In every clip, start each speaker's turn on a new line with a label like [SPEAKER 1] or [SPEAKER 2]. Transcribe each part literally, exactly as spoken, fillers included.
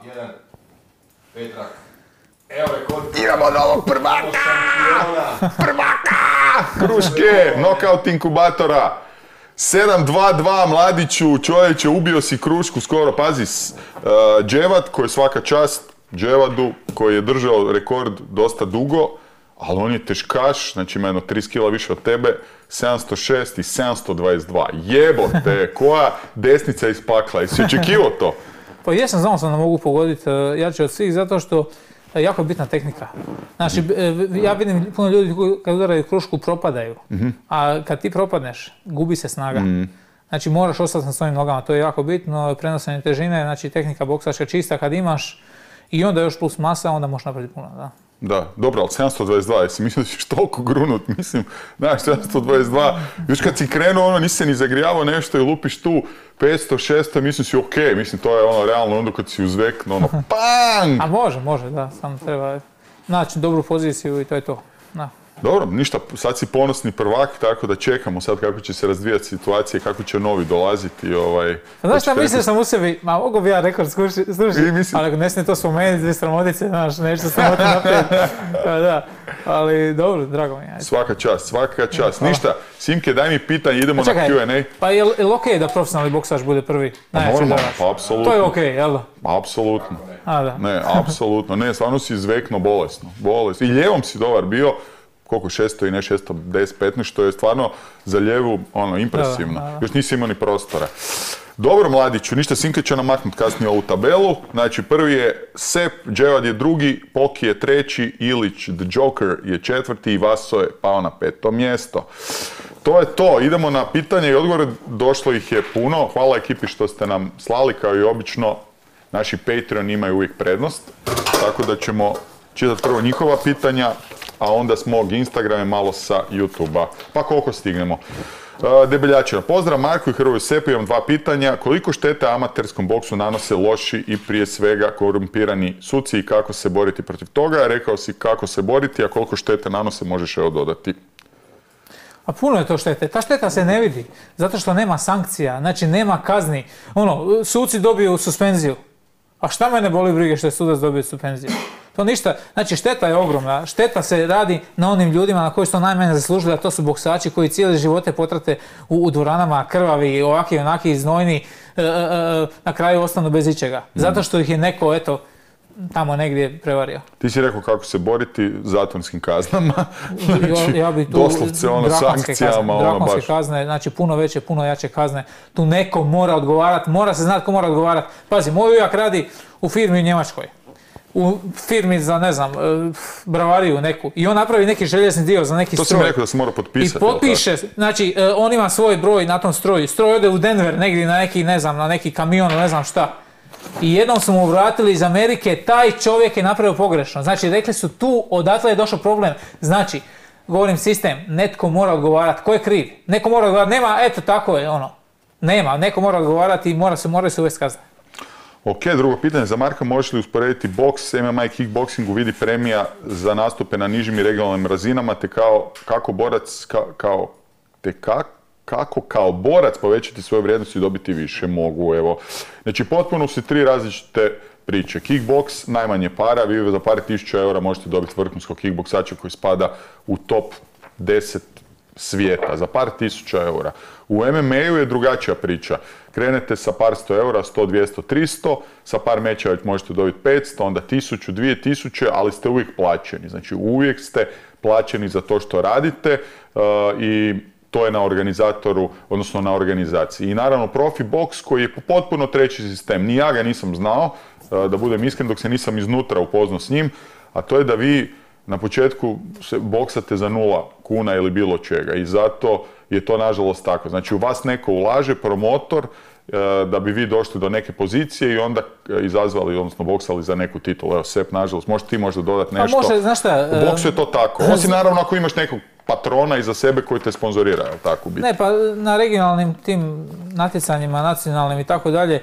[SPEAKER 1] Jedan, Petrak. Evo rekord.
[SPEAKER 2] Imamo novog prvaka! Prvaka! Kruške, knockout inkubatora. sedam dva dva Mladiću, čovječe, ubio si Krušku skoro, pazi, uh, Dževad, koji je svaka čast Dževadu, koji je držao rekord dosta dugo, ali on je teškaš, znači ima jedno trideset kila više od tebe, sedamsto šest i sedamsto dvadeset dva. Jebote, koja desnica iz pakla, jesi očekivao to?
[SPEAKER 3] Pa jesam, znao sam da mogu pogoditi jače od svih, zato što je jako bitna tehnika. Znači, ja vidim puno ljudi kad udaraju Krušku propadaju, mm-hmm. a kad ti propadneš, gubi se snaga. Mm. Znači, moraš ostati na svojim nogama, to je jako bitno, prenosanje težine, znači tehnika boksačka čista kad imaš i onda još plus masa, onda možeš napraviti puno, da.
[SPEAKER 2] Da, dobro, ali sedamsto dvadeset dva, jesi mislio da ćeš toliko grunut, mislim, znaš, sedamsto dvadeset dva, još kad si krenuo, ono, nisi se ni zagrijavao nešto i lupiš tu petsto šesto, mislim si okej, okay. Mislim, to je ono, realno, onda kad si uzvekno, ono, pang!
[SPEAKER 3] A može, može, da, samo treba naći dobru poziciju i to je to, da.
[SPEAKER 2] Dobro, ništa, sad si ponosni prvak, tako da čekamo sad kako će se razvijati situacije, kako će novi dolaziti. Ovaj,
[SPEAKER 3] znaš šta, mislio sam u sebi, ma mogu bi ja rekord slušati, ali ako ne smije to spomenuti, dvije sramotice, znaš, nešto sramoti naprijed. Da, ali dobro, drago mi je. Ajde.
[SPEAKER 2] Svaka čast, svaka čast. Ništa, Simke, daj mi pitanje, idemo
[SPEAKER 3] čekaj,
[SPEAKER 2] na Q and A.
[SPEAKER 3] Pa je li okej da profesionalni boksač bude prvi?
[SPEAKER 2] Pa normalno, pa apsolutno.
[SPEAKER 3] To je okej, jel da?
[SPEAKER 2] Apsolutno.
[SPEAKER 3] A, da.
[SPEAKER 2] Ne, apsolutno, ne, stvarno si izvekno bolesno, bolesno. I ljevom si dobar bio, koliko šesto i ne šesto deset petnaest, što je stvarno za ljevu ono, impresivno. Da, da, da. Još nisi imao ni prostora. Dobro, Mladiću, ništa, Simke će namaknuti kasnije ovu tabelu. Znači, prvi je Sep, Dževad je drugi, Poki je treći, Ilić, The Joker je četvrti i Vaso je pao na peto mjesto. To je to, idemo na pitanje i odgovore, došlo ih je puno. Hvala ekipi što ste nam slali, kao i obično. Naši Patreon imaju uvijek prednost, tako da ćemo čitati prvo njihova pitanja, a onda s mog Instagrama malo sa YouTube-a. Pa koliko stignemo. Debeljačina. Pozdrav Marko i Hrvoju Sepu, imam dva pitanja. Koliko štete amaterskom boksu nanose loši i prije svega korumpirani suci i kako se boriti protiv toga? Rekao si kako se boriti, a koliko štete nanose možeš evo dodati.
[SPEAKER 3] A puno je to štete. Ta šteta se ne vidi, zato što nema sankcija, znači nema kazni. Ono, suci dobiju suspenziju. A šta mene boli brige što je sudac dobio suspenziju? To ništa, znači šteta je ogromna, šteta se radi na onim ljudima na koji su to najmanje zaslužili, a to su boksači koji cijele živote potrate u, u dvoranama, krvavi, ovaki, onaki, znojni, e, e, na kraju ostanu bez ičega. Zato što ih je neko, eto, tamo negdje prevario.
[SPEAKER 2] Ti si rekao kako se boriti zatvorskim kaznama,
[SPEAKER 3] znači, ja, ja bi tu
[SPEAKER 2] doslovce ono sankcijama,
[SPEAKER 3] kazne,
[SPEAKER 2] ono
[SPEAKER 3] drakonske
[SPEAKER 2] baš.
[SPEAKER 3] kazne, znači puno veće, puno jače kazne. Tu neko mora odgovarati, mora se znati ko mora odgovarati. Pazi, moj ujak radi u firmi u Njemačkoj. U firmi za, ne znam, bravariju neku. I on napravi neki željezni dio za neki
[SPEAKER 2] to
[SPEAKER 3] stroj.
[SPEAKER 2] To sam rekao da se mora potpisati.
[SPEAKER 3] I potpiše, znači, on ima svoj broj na tom stroju. Stroj ode u Denver, negdje na neki, ne znam, na neki kamion, ne znam šta. I jednom su mu vratili iz Amerike, taj čovjek je napravio pogrešno. Znači, rekli su tu, odatle je došao problem. Znači, govorim sistem, netko mora odgovarati. Ko je kriv? Neko mora odgovarati. Nema, eto, tako je, ono. Nema, neko mora odgovarati i mora se, moraju se uvesti kazne.
[SPEAKER 2] Ok, drugo pitanje za Marka, možeš li usporediti boks, M M A i kickboxingu, vidi premija za nastupe na nižim i regionalnim razinama, te kao, kako borac, ka, kao, te ka, kako kao borac povećati svoje vrijednosti i dobiti više? Mogu, evo. Znači, potpuno su tri različite priče. Kickboks, najmanje para, vi za par tisuća eura možete dobiti vrhunskog kickboksača koji spada u top deset svijeta, za par tisuća eura. U M M A-u je drugačija priča. Krenete sa par sto eura, sto, dvjesto, tristo, sa par mečeva možete dobiti petsto, onda tisuću, dvije tisuće, ali ste uvijek plaćeni. Znači uvijek ste plaćeni za to što radite uh, i to je na organizatoru, odnosno na organizaciji. I naravno profi boks koji je potpuno treći sistem. Ni ja ga nisam znao, uh, da budem iskren, dok se nisam iznutra upoznao s njim, a to je da vi na početku se boksate za nula kuna ili bilo čega i zato je to nažalost tako. Znači u vas neko ulaže, promotor, da bi vi došli do neke pozicije i onda izazvali, odnosno boksali za neku titulu. Evo, Sep, nažalost, možeš ti možda dodati nešto.
[SPEAKER 3] Pa može, znaš šta?
[SPEAKER 2] U boksu je to tako. Osim naravno ako imaš nekog patrona iza sebe koji te sponzorira, je li tako biti?
[SPEAKER 3] Ne, pa na regionalnim tim natjecanjima, nacionalnim i tako dalje,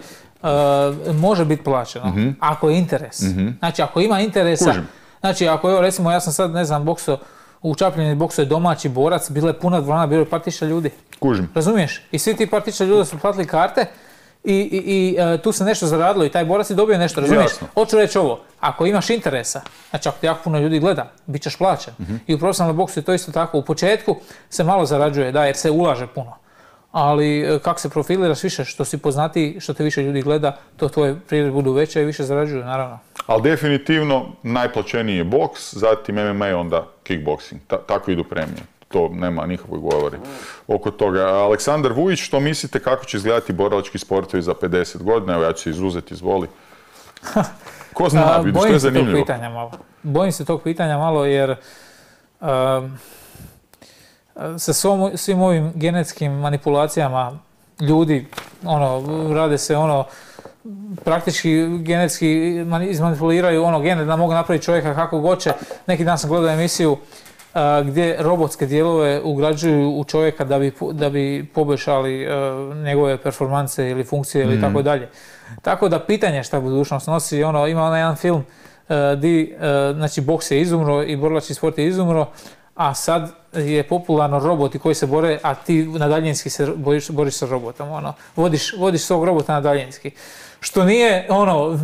[SPEAKER 3] može biti plaćeno. Mm-hmm. Ako je interes. Mm-hmm. Znači, ako ima interesa... Kužim. Znači, ako evo, recimo, ja sam sad, ne znam, bokso, u Čapljini bokso je domaći borac, bila je puna dvorana, bilo je par tisuća ljudi.
[SPEAKER 2] Kužim.
[SPEAKER 3] Razumiješ? I svi ti par tisuća ljudi su platili karte i, i, i uh, tu se nešto zaradilo i taj borac je dobio nešto, razumiješ?
[SPEAKER 2] Jasno.
[SPEAKER 3] Hoću reći ovo, ako imaš interesa, znači ako te jako puno ljudi gleda, bit ćeš plaćen. Mm-hmm. I u profesionalnom boksu je to isto tako. U početku se malo zarađuje, da, jer se ulaže puno. Ali kako se profiliraš više, što si poznatiji, što te više ljudi gleda, to tvoje prilike budu veće i više zarađuju, naravno.
[SPEAKER 2] Ali definitivno najplaćeniji je boks, zatim M M A, onda kickboxing. Ta, tako idu premije. To nema nikakvog govori oko toga. Aleksandar Vujić, što mislite kako će izgledati borilački sportovi za pedeset godina? Evo ja ću se izuzeti, izvoli. Ko zna, vidiš, to je zanimljivo.
[SPEAKER 3] Bojim se tog pitanja malo. Bojim se tog pitanja malo jer uh, sa svom, svim ovim genetskim manipulacijama ljudi, ono, rade se ono, praktički genetski izmanipuliraju ono gene da mogu napraviti čovjeka kako hoće. Neki dan sam gledao emisiju uh, gdje robotske dijelove ugrađuju u čovjeka da bi, da bi poboljšali uh, njegove performanse ili funkcije ili mm. tako dalje. Tako da pitanje šta budućnost nosi, ono, ima onaj jedan film uh, di, uh, znači, boks je izumro i borilački sport je izumro, a sad je popularno roboti koji se bore, a ti na daljinski se boriš, boriš sa robotom, ono, vodiš, vodiš svog robota na daljinski. Što nije, ono,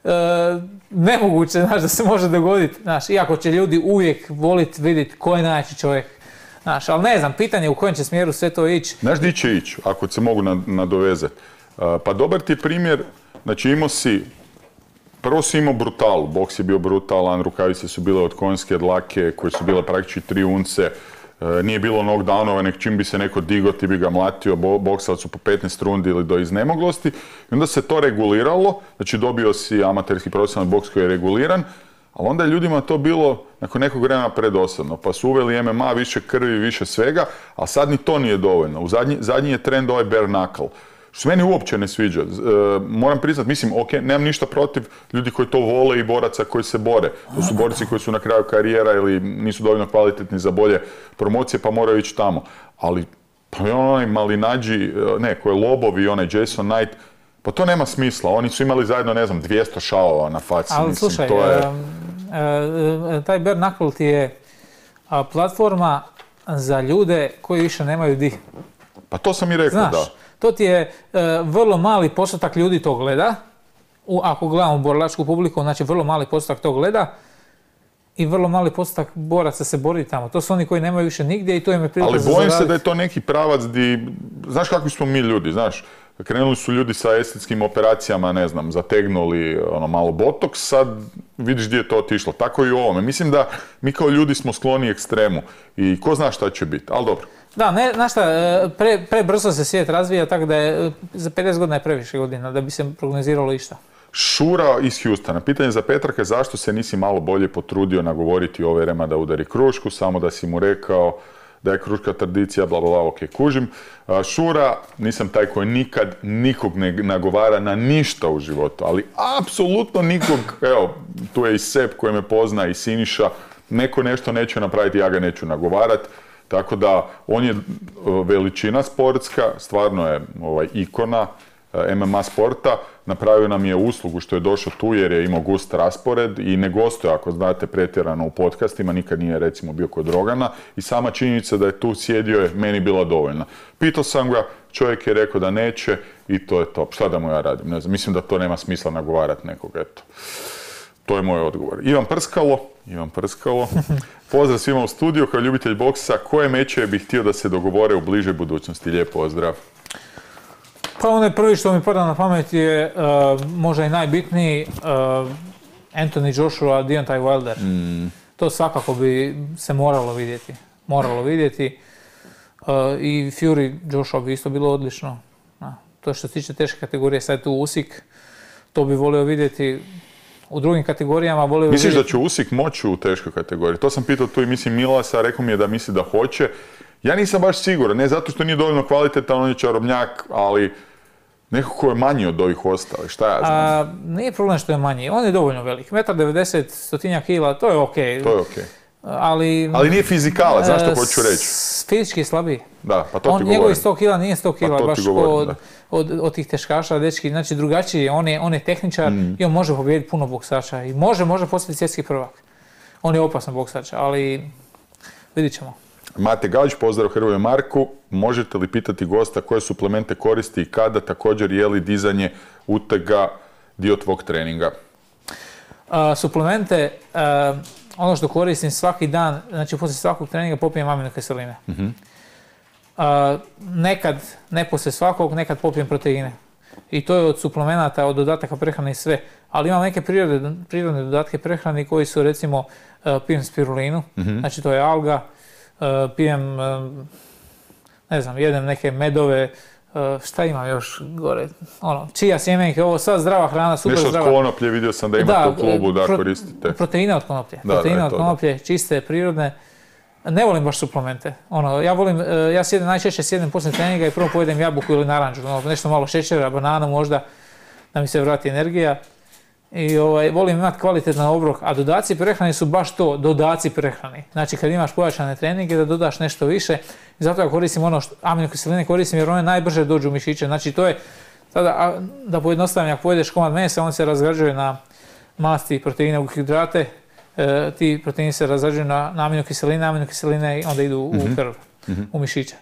[SPEAKER 3] e, nemoguće, znaš, da se može dogoditi, znaš, iako će ljudi uvijek voliti vidjeti ko je najjači čovjek, znaš, ali ne znam, pitanje u kojem će smjeru sve to ići.
[SPEAKER 2] Znaš di će ići, ako se mogu nadovezati? Pa dobar ti je primjer, znači imao si, prvo si imao brutalu, boks je bio brutalan, rukavice su bile od konjske dlake koje su bile praktički tri unce, e, nije bilo knockdownova, nek čim bi se neko digo ti bi ga mlatio, bo, boksali su po petnaest rundi ili do iznemoglosti. I onda se to reguliralo, znači dobio si amaterski profesionalni boks koji je reguliran, ali onda je ljudima to bilo nakon nekog vremena predosadno, pa su uveli M M A, više krvi, više svega, a sad ni to nije dovoljno. U zadnji, zadnji je trend ovaj bare knuckle. Što se meni uopće ne sviđa. E, moram priznat, mislim, ok, nemam ništa protiv ljudi koji to vole i boraca koji se bore. To su borci koji su na kraju karijera ili nisu dovoljno kvalitetni za bolje promocije pa moraju ići tamo. Ali, pa onaj Malinađi, ne, koji je Lobovi i onaj Jason Knight, pa to nema smisla. Oni su imali zajedno, ne znam, dvjesto šavova na faci.
[SPEAKER 3] Ali
[SPEAKER 2] mislim,
[SPEAKER 3] slušaj,
[SPEAKER 2] to je...
[SPEAKER 3] e, e, taj bare knuckle ti je a, platforma za ljude koji više nemaju di.
[SPEAKER 2] Pa to sam i rekao,
[SPEAKER 3] znaš,
[SPEAKER 2] da.
[SPEAKER 3] To ti je e, vrlo mali postotak ljudi to gleda, u, ako gledamo borilačku publiku, znači vrlo mali postotak to gleda i vrlo mali postotak boraca se bori tamo. To su oni koji nemaju više nigdje i to im je prilika za zaraditi.
[SPEAKER 2] Ali bojim se da je to neki pravac di, znaš kakvi smo mi ljudi, znaš, krenuli su ljudi sa estetskim operacijama, ne znam, zategnuli ono malo botoks, sad vidiš gdje je to otišlo. Tako i u ovome. Mislim da mi kao ljudi smo skloni ekstremu i ko zna šta će biti, ali dobro.
[SPEAKER 3] Da, ne, znaš šta, pre, pre brzo se svijet razvija, tako da je za pedeset godina je previše godina da bi se prognoziralo išta.
[SPEAKER 2] Šura iz Houstona. Pitanje za Petraka, zašto se nisi malo bolje potrudio nagovoriti ove Rema da udari krušku, samo da si mu rekao da je kruška tradicija, bla, bla, bla, ok, kužim. Šura, nisam taj koji nikad nikog ne nagovara na ništa u životu, ali apsolutno nikog, evo, tu je i Sep koji me pozna i Siniša, neko nešto neće napraviti, ja ga neću nagovarati. Tako da, on je veličina sportska, stvarno je ovaj, ikona M M A sporta, napravio nam je uslugu što je došao tu jer je imao gust raspored i ne gostuje, ako znate, pretjerano u podcastima, nikad nije recimo bio kod Rogana i sama činjenica da je tu sjedio je meni bila dovoljna. Pitao sam ga, čovjek je rekao da neće i to je to. Šta da mu ja radim? Ne znam, mislim da to nema smisla nagovarati nekog, eto. To je moj odgovor. Ivan Prskalo, Ivan Prskalo, pozdrav svima u studiju, kao ljubitelj boksa, koje mečeve bih htio da se dogovore u bližoj budućnosti? Lijep pozdrav.
[SPEAKER 3] Pa onaj prvi što mi pada na pamet je uh, možda i najbitniji uh, Anthony Joshua, Deontay Wilder. Mm. To svakako bi se moralo vidjeti. Moralo vidjeti. Uh, I Fury Joshua bi isto bilo odlično. Na, to što se tiče teške kategorije, sad je tu Usik, to bi volio vidjeti. U drugim kategorijama volio
[SPEAKER 2] Misliš
[SPEAKER 3] vidjeti...
[SPEAKER 2] da će Usik moći u teškoj kategoriji? To sam pitao tu i mislim Milasa, rekao mi je da misli da hoće. Ja nisam baš siguran, ne zato što nije dovoljno kvalitetan, on je čarobnjak, ali neko ko je manji od ovih ostalih, šta ja znam?
[SPEAKER 3] A, nije problem što je manji, on je dovoljno velik. jedan devedeset metar, stotinja kila, to je okej.
[SPEAKER 2] Okay. To je okej. Okay.
[SPEAKER 3] Ali,
[SPEAKER 2] ali nije fizikala, znaš što hoću reći?
[SPEAKER 3] Fizički je slabiji.
[SPEAKER 2] Da, pa to ti
[SPEAKER 3] on,
[SPEAKER 2] govorim.
[SPEAKER 3] Njegovi sto kila nije sto kila,
[SPEAKER 2] pa
[SPEAKER 3] baš govorim, od, od, od tih teškaša, dečki. Znači drugačiji je, on je, on je tehničar mm. i on može pobijediti puno boksača. I može, može postati svjetski prvak. On je opasan boksač, ali vidit ćemo.
[SPEAKER 2] Mate Galić, pozdrav Hrvoju Marku. Možete li pitati gosta koje suplemente koristi i kada, također je li dizanje utega dio tvog treninga?
[SPEAKER 3] Uh, suplemente, uh, ono što koristim svaki dan, znači poslije svakog treninga popijem aminokiseline. Uh-huh. Uh, nekad, ne poslije svakog, nekad popijem proteine. I to je od suplemenata, od dodataka prehrane i sve. Ali imam neke prirodne, prirodne dodatke prehrane koji su recimo, uh, pijem spirulinu, uh-huh. znači to je alga, uh, pijem, uh, ne znam, jedem neke medove, Uh, šta imam još gore, ono, čija sjemenke, ovo sva zdrava hrana, super
[SPEAKER 2] Nešto
[SPEAKER 3] zdrava.
[SPEAKER 2] Nešto od konoplje, vidio sam da imate da, u klubu da pro, koristite.
[SPEAKER 3] Proteine od konoplje,
[SPEAKER 2] da,
[SPEAKER 3] proteine
[SPEAKER 2] da,
[SPEAKER 3] od konoplje, čiste, prirodne. Ne volim baš suplemente. Ono, ja volim, uh, ja sjedem, najčešće sjedem poslije treninga i prvo pojedem jabuku ili naranđu, ono, nešto malo šećera, bananu možda, da mi se vrati energija. I ovaj, volim imati kvalitetan obrok, a dodaci prehrane su baš to, dodaci prehrane. Znači kad imaš pojačane treninge da dodaš nešto više, i zato ja koristim ono što aminokiseline koristim jer one najbrže dođu u mišiće. Znači to je, tada, a, da pojednostavim, ako pojedeš komad mesa, on se razgrađuje na masti, proteine, ugljikohidrate, e, ti proteini se razgrađuju na, na aminokiseline, aminokiseline onda idu u mm-hmm. krv, mm-hmm. u mišiće.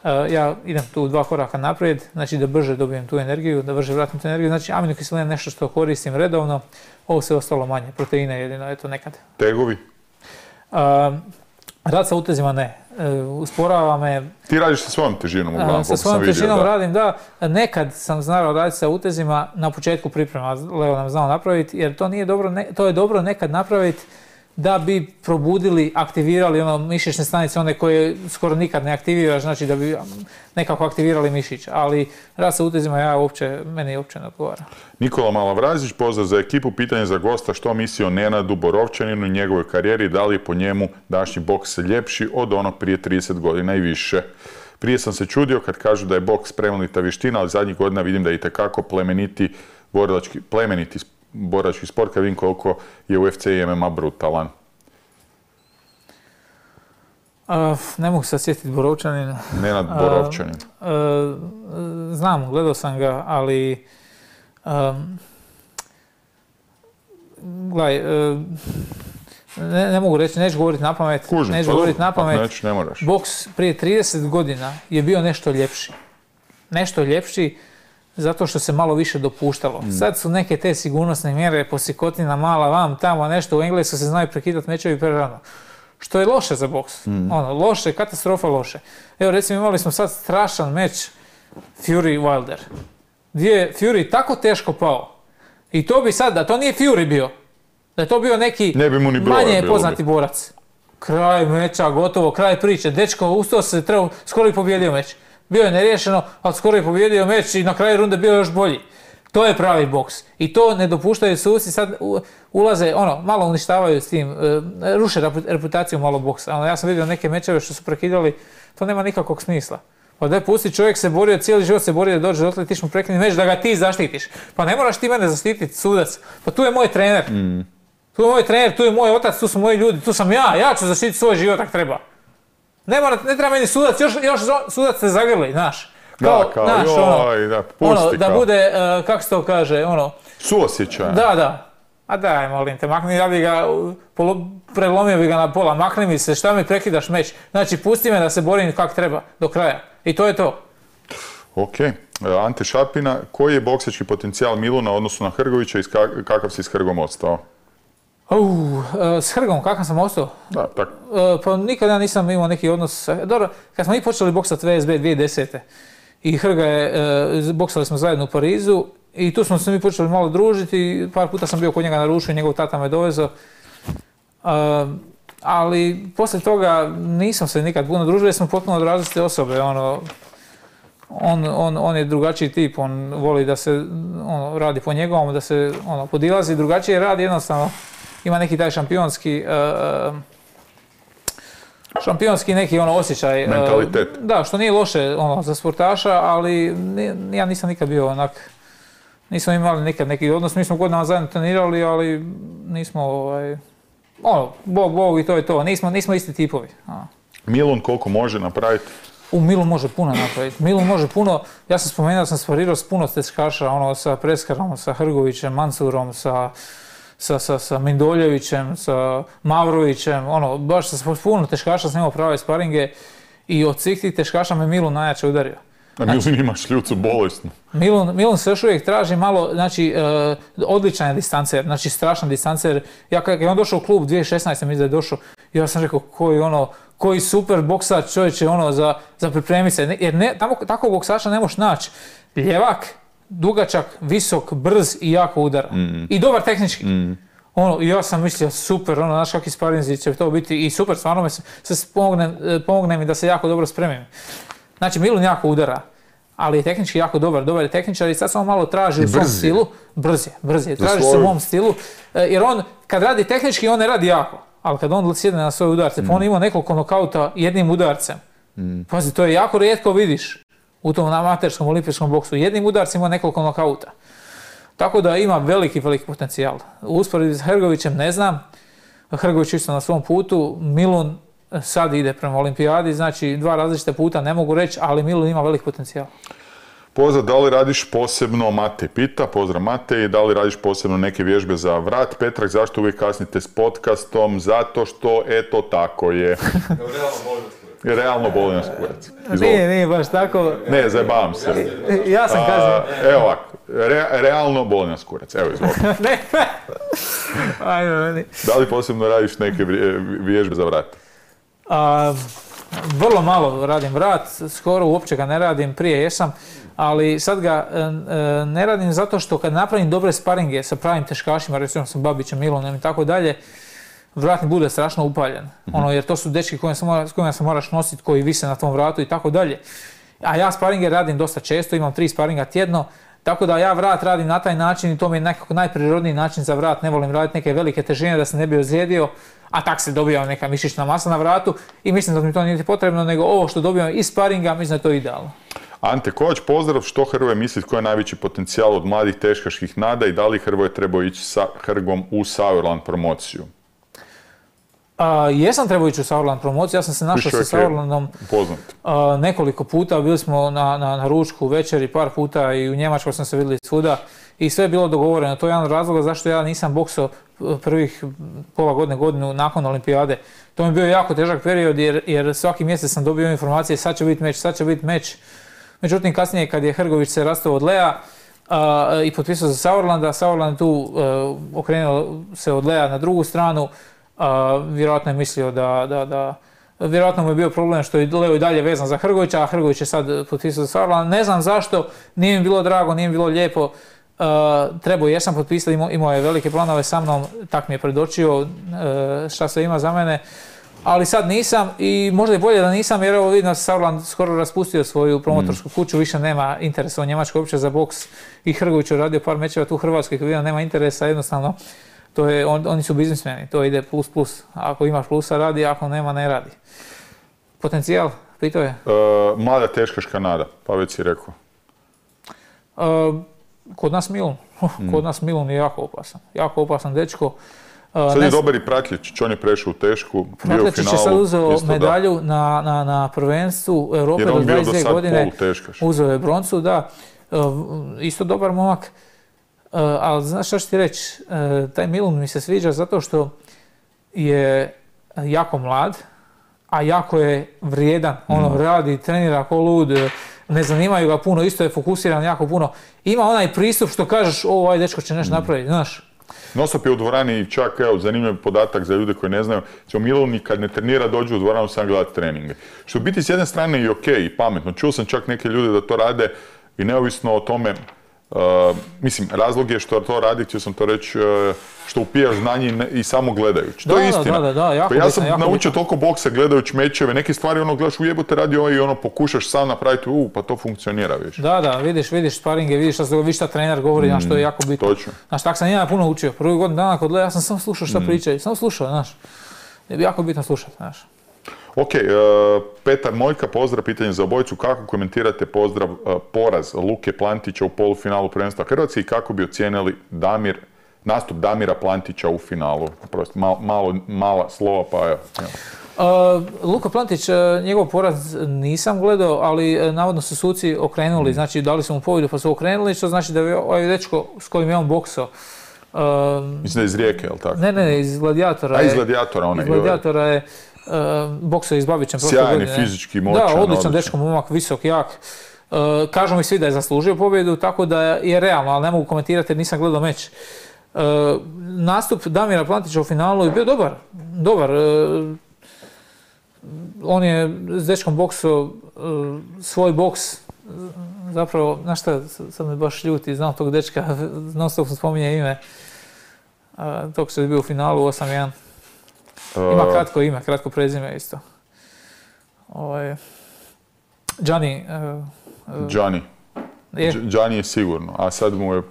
[SPEAKER 3] Uh, ja idem tu dva koraka naprijed, znači da brže dobijem tu energiju, da brže vratim tu energiju, znači aminokiseline je nešto što koristim redovno, ovo sve ostalo manje, proteine jedino, eto nekad.
[SPEAKER 2] Tegovi?
[SPEAKER 3] Uh, rad sa utezima ne, uh, usporava me.
[SPEAKER 2] Ti radiš sa svojom težinom uglavnom,
[SPEAKER 3] uh, Sa svojom težinom da. radim, da, nekad sam znao raditi sa utezima na početku priprema, Leo nam znao napraviti, jer to nije dobro, ne, to je dobro nekad napraviti da bi probudili, aktivirali ono mišićne stanice, one koje skoro nikad ne aktiviraš, znači da bi nekako aktivirali mišić, ali rad sa utezima ja uopće, meni uopće ne odgovara.
[SPEAKER 2] Nikola Malavrazić, pozdrav za ekipu, pitanje za gosta, što misli o Nenadu Borovčaninu i njegovoj karijeri, da li je po njemu današnji boks ljepši od onog prije trideset godina i više. Prije sam se čudio kad kažu da je boks plemenita vještina, ali zadnjih godina vidim da je itekako plemeniti borilački, plemeniti borački sport, kad vidim koliko je U F C i M M A brutalan.
[SPEAKER 3] Uh, ne mogu se sjetiti Borovčanin.
[SPEAKER 2] Nenad Borovčanin.
[SPEAKER 3] Uh, uh, znam, gledao sam ga, ali um, gledaj, uh, ne, ne mogu reći, neću govoriti na pamet.
[SPEAKER 2] Kužim,
[SPEAKER 3] neću
[SPEAKER 2] pa
[SPEAKER 3] govoriti na pamet.
[SPEAKER 2] Neć, ne moraš.
[SPEAKER 3] Boks prije trideset godina je bio nešto ljepši. Nešto ljepši zato što se malo više dopuštalo. Mm. Sad su neke te sigurnosne mjere, posikotina mala, vam, tamo, nešto, u Engleskoj se znaju prekidati mečevi prerano. Što je loše za boks. Mm. Ono, loše, katastrofa loše. Evo recimo imali smo sad strašan meč Fury Wilder. Gdje je Fury tako teško pao. I to bi sad, da to nije Fury bio, da je to bio neki
[SPEAKER 2] ne bi mu ni
[SPEAKER 3] manje poznati borac. Kraj meča, gotovo, kraj priče. Dečko ustao se, trebao, skoro i pobjedio meč. Bio je neriješeno, ali skoro je pobjedio meč i na kraju runde bio još bolji. To je pravi boks. I to ne dopuštaju suci, sad ulaze, ono, malo uništavaju s tim, ruše reputaciju malo boksa. Ono, ja sam vidio neke mečeve što su prekidali, to nema nikakvog smisla. Pa daj pusti, čovjek se borio, cijeli život se borio da dođe dotle, ti ćeš mu prekinuti meč da ga ti zaštitiš. Pa ne moraš ti mene zaštititi, sudac. Pa tu je moj trener. Mm. Tu je moj trener, tu je moj otac, tu su moji ljudi, tu sam ja, ja ću zaštititi svoj život ako treba. Ne, mora, ne treba meni sudac, još, još sudac te zagrli, znaš. Kao,
[SPEAKER 2] da, kao,
[SPEAKER 3] naš,
[SPEAKER 2] joj,
[SPEAKER 3] ono,
[SPEAKER 2] da, pusti,
[SPEAKER 3] ono, da
[SPEAKER 2] kao.
[SPEAKER 3] bude, uh, kako se to kaže, ono...
[SPEAKER 2] Suosjećaj.
[SPEAKER 3] Da, da. A daj, molim te, makni, ja bi ga, polo, prelomio bi ga na pola, makni mi se, šta mi prekidaš meč? Znači, pusti me da se borim kako treba, do kraja. I to je to.
[SPEAKER 2] Ok. Ante Šapina, koji je boksački potencijal Miluna u odnosu na Hrgovića i kakav si s Hrgom ostao?
[SPEAKER 3] Uh, s Hrgom, kakav sam ostao?
[SPEAKER 2] Da, tako.
[SPEAKER 3] Uh, pa nikada nisam imao neki odnos. Dobro, kad smo mi počeli boksati V S B dvije tisuće desete. I Hrga je, uh, boksali smo zajedno u Parizu i tu smo se mi počeli malo družiti, par puta sam bio kod njega na ruču i njegov tata me dovezao. Uh, ali poslije toga nisam se nikad puno družio jer smo potpuno različite osobe. Ono, on, on, on je drugačiji tip, on voli da se ono, radi po njegovom, da se ono, podilazi, drugačije radi jednostavno. Ima neki taj šampionski, uh, šampionski neki ono osjećaj.
[SPEAKER 2] Mentalitet.
[SPEAKER 3] Uh, da, što nije loše ono, za sportaša, ali ni, ja nisam nikad bio onak, nismo imali nikad neki odnos, mi smo godinama zajedno trenirali, ali nismo, ovaj, ono, bog, bog i to je to, nismo, nismo isti tipovi. A.
[SPEAKER 2] Milun koliko može napraviti?
[SPEAKER 3] U Milun može puno napraviti. Milun može puno, ja sam spomenuo da sam sparirao s puno tečkaša, ono, sa Preskarom, sa Hrgovićem, Mansurom, sa sa, sa, sa Mindoljevićem, sa Mavrovićem, ono, baš sa puno teškaša sam imao prave sparinge i od svih tih teškaša me Milun najjače udario.
[SPEAKER 2] A Milun znači, ima šljucu bolesnu.
[SPEAKER 3] Milun, Milun se još uvijek traži malo, znači, uh, odličan je distancer, znači strašan distancer. Ja kad je on došao u klub dvije tisuće šesnaeste mislim da je došao, ja sam rekao koji ono, koji super boksač čovječe ono za, za pripremiti se, jer ne, tamo, tako boksača ne možeš naći. Ljevak, dugačak, visok, brz i jako udaran. Mm. I dobar tehnički. Mm. Ono, ja sam mislio super, ono, znaš kakvi sparinzi će to biti i super, stvarno me se, se pomogne, pomogne mi da se jako dobro spremim. Znači, Milun jako udara, ali je tehnički jako dobar, dobar je tehničar i sad samo malo traži u svom stilu. Brz je, brz je, traži se u mom stilu, jer on kad radi tehnički, on ne radi jako, ali kad on sjedne na svoje udarce, mm. pa on ima nekoliko nokauta jednim udarcem. Mm. Pazi, to je jako rijetko vidiš u tom amaterskom olimpijskom boksu, jednim udarcem ima nekoliko nokauta. Tako da ima veliki, veliki potencijal. U usporedbi s Hrgovićem ne znam, Hrgović isto na svom putu, Milun sad ide prema olimpijadi, znači dva različita puta ne mogu reći, ali Milun ima velik potencijal.
[SPEAKER 2] Pozdrav, da li radiš posebno, Mate pita, pozdrav Mate, i da li radiš posebno neke vježbe za vrat? Petrak, zašto uvijek kasnite s podcastom? Zato što, eto, tako je. Realno boli nas kurac.
[SPEAKER 3] Nije, nije baš tako.
[SPEAKER 2] Ne, zajebavam se.
[SPEAKER 3] Ja sam kazao.
[SPEAKER 2] Evo ovako, re, realno boli nas kurac. Evo, izvoli.
[SPEAKER 3] Ne, ajde, meni.
[SPEAKER 2] Da li posebno radiš neke vježbe za vrat?
[SPEAKER 3] A, vrlo malo radim vrat, skoro uopće ga ne radim, prije jesam, ali sad ga e, ne radim zato što kad napravim dobre sparinge sa pravim teškašima, recimo sa Babićem, Milonom i tako dalje, vratni bude strašno upaljen. Mm-hmm. Ono, jer to su dečki kojima se, mora, s kojima se moraš nositi, koji vise na tom vratu i tako dalje. A ja sparinge radim dosta često, imam tri sparinga tjedno, tako da ja vrat radim na taj način i to mi je nekako najprirodniji način za vrat. Ne volim raditi neke velike težine da se ne bi ozlijedio, a tak se dobija neka mišićna masa na vratu i mislim da mi to nije potrebno, nego ovo što dobijam iz sparinga, mislim da je to idealno.
[SPEAKER 2] Ante Kovač, pozdrav, što Hrvoje misli koji je najveći potencijal od mladih teškaških nada i da li Hrvoje trebao ići sa Hrgom u Sauerland promociju?
[SPEAKER 3] A, jesam trebao ići u Sauerland promociju, ja sam se našao sa Sauerlandom a, nekoliko puta, bili smo na, na, na ručku, večeri, par puta i u Njemačkoj sam se vidjeli svuda i sve je bilo dogovoreno. To je jedan od razloga zašto ja nisam boksao prvih pola godine, godinu nakon olimpijade. To mi je bio jako težak period jer, jer svaki mjesec sam dobio informacije sad će biti meč, sad će biti meč. Međutim, kasnije kad je Hrgović se rastao od Lea a, i potpisao za Sauerlanda, Sauerland tu a, okrenuo se od Lea na drugu stranu. Uh, vjerojatno je mislio da, da, da, vjerojatno mu je bio problem što je Leo i dalje vezan za Hrgovića, a Hrgović je sad potpisao za Sauerland. Ne znam zašto, nije mi bilo drago, nije mi bilo lijepo. Uh, trebao jesam potpisati, imao, imao je velike planove sa mnom, tak mi je predočio uh, šta se ima za mene. Ali sad nisam i možda je bolje da nisam jer evo vidim da se Sauerland skoro raspustio svoju promotorsku kuću, više nema interesa u Njemačkoj uopće za boks i Hrgović je radio par mečeva tu u Hrvatskoj, kad vidim nema interesa, jednostavno to je, on, oni su biznismeni, to ide plus plus. Ako imaš plusa radi, ako nema ne radi. Potencijal, pitao je?
[SPEAKER 2] E, mlada teškaška nada, pa već si rekao.
[SPEAKER 3] E, kod nas Milun. Mm. Kod nas Milun je jako opasan. Jako opasan dečko. E,
[SPEAKER 2] sad je dobar i Pratljičić, on je prešao u tešku, bio u finalu.
[SPEAKER 3] je sad uzeo medalju na, na, na prvenstvu Europe do dvadeset dvije godine. Uzeo je broncu, da. E, isto dobar momak. Uh, ali znaš šta ću ti reći, uh, taj Milun mi se sviđa zato što je jako mlad, a jako je vrijedan, ono mm. radi, trenira ko lud, ne zanimaju ga puno, isto je fokusiran jako puno. Ima onaj pristup što kažeš, o, ovaj dečko će nešto mm. napraviti, znaš.
[SPEAKER 2] Nosop je u dvorani i čak, evo, zanimljiv podatak za ljude koji ne znaju, će Milun kad ne trenira dođe u dvoranu sam gledati treninge. Što biti s jedne strane i ok i pametno, čuo sam čak neke ljude da to rade i neovisno o tome. Uh, mislim, razlog je što to radi, htio sam to reći, uh, što upijaš znanje i, ne, i samo gledajući. To je istina.
[SPEAKER 3] Da, da, da, jako
[SPEAKER 2] pa ja sam
[SPEAKER 3] bitan,
[SPEAKER 2] naučio
[SPEAKER 3] bitan.
[SPEAKER 2] toliko boksa gledajući mečeve, neke stvari ono gledaš u jebote radi ovaj i ono pokušaš sam napraviti, u, pa to funkcionira, vidiš.
[SPEAKER 3] Da, da, vidiš, vidiš sparinge, vidiš šta, vidiš šta trener govori, mm, što je jako bitno.
[SPEAKER 2] Točno.
[SPEAKER 3] Znaš, tak sam ja puno učio. Prvi godin dana kod Lea, ja sam samo slušao šta mm. pričaju, samo slušao, znaš. Je jako bitno slušati, znaš.
[SPEAKER 2] Ok, uh, Petar Mojka, pozdrav, pitanje za obojicu. Kako komentirate pozdrav uh, poraz Luke Plantića u polufinalu prvenstva Hrvatske i kako bi ocijenili Damir, nastup Damira Plantića u finalu? Prosto, mal, malo, mala slova, pa evo.
[SPEAKER 3] Uh, Luka Plantić, uh, njegov poraz nisam gledao, ali uh, navodno su suci okrenuli, mm. znači dali su mu pobjedu pa su okrenuli, što znači da je ovaj dečko s kojim je on boksao Uh,
[SPEAKER 2] Mislim da je iz Rijeke, jel tako?
[SPEAKER 3] Ne, ne, iz Gladijatora.
[SPEAKER 2] A iz Gladijatora onaj.
[SPEAKER 3] Iz Gladijatora je uh, boksao iz Babićem prošle godine.
[SPEAKER 2] Sjajni, fizički, moćan.
[SPEAKER 3] Da, odličan dečko, momak, visok, jak. Uh, kažu mi svi da je zaslužio pobjedu, tako da je realno, ali ne mogu komentirati jer nisam gledao meč. Uh, nastup Damira Plantića u finalu je bio dobar. Dobar. Uh, on je s dečkom boksao uh, svoj boks. Zapravo, znaš šta, sad me baš ljuti, znam tog dečka, non stop spominje ime. Uh, tog što je bio u finalu osam jedan. Ima kratko ime, kratko prezime isto. Ovaj, Gianni. Uh,
[SPEAKER 2] Gianni.
[SPEAKER 3] Je.
[SPEAKER 2] Gianni je sigurno, a sad mu je...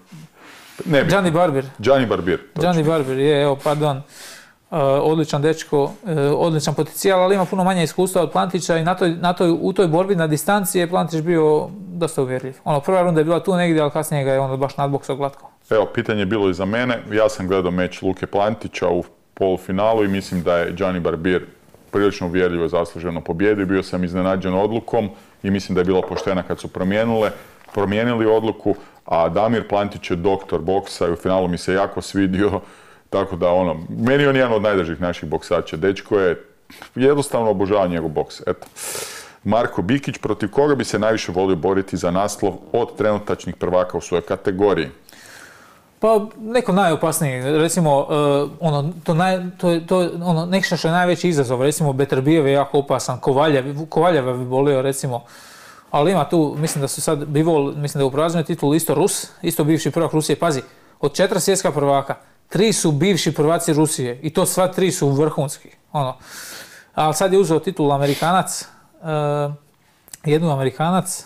[SPEAKER 2] Ne bi.
[SPEAKER 3] Gianni Barbier.
[SPEAKER 2] Gianni Barbier.
[SPEAKER 3] Gianni Barbier, je, evo, pardon. Uh, odličan dečko, uh, odličan potencijal, ali ima puno manje iskustva od Plantića i na toj, na toj, u toj borbi na distanci je Plantić bio dosta uvjerljiv. Ono, prva runda je bila tu negdje, ali kasnije ga je onda baš nadboksao glatko.
[SPEAKER 2] Evo, pitanje je bilo i za mene. Ja sam gledao meč Luke Plantića u polufinalu i mislim da je Gianni Barbier prilično uvjerljivo zasluženo pobjedio. Bio sam iznenađen odlukom i mislim da je bila poštena kad su promijenile, promijenili odluku, a Damir Plantić je doktor boksa i u finalu mi se jako svidio. Tako da, ono, meni je on jedan od najdražih naših boksača. Dečko je, jednostavno obožava njegov boks. Eto. Marko Bikić, protiv koga bi se najviše volio boriti za naslov od trenutačnih prvaka u svojoj kategoriji?
[SPEAKER 3] Pa, neko najopasniji, recimo, uh, ono, to, naj, to, to ono, nešto što je najveći izazov, recimo, Beterbijev je jako opasan, Kovaljev, Kovaljeva bi volio, recimo, ali ima tu, mislim da su sad, Bivol, mislim da je upraznio titul isto Rus, isto bivši prvak Rusije, pazi, od četiri svjetska prvaka, tri su bivši prvaci Rusije i to sva tri su vrhunski, ono. Ali sad je uzeo titul Amerikanac, uh, jednu Amerikanac,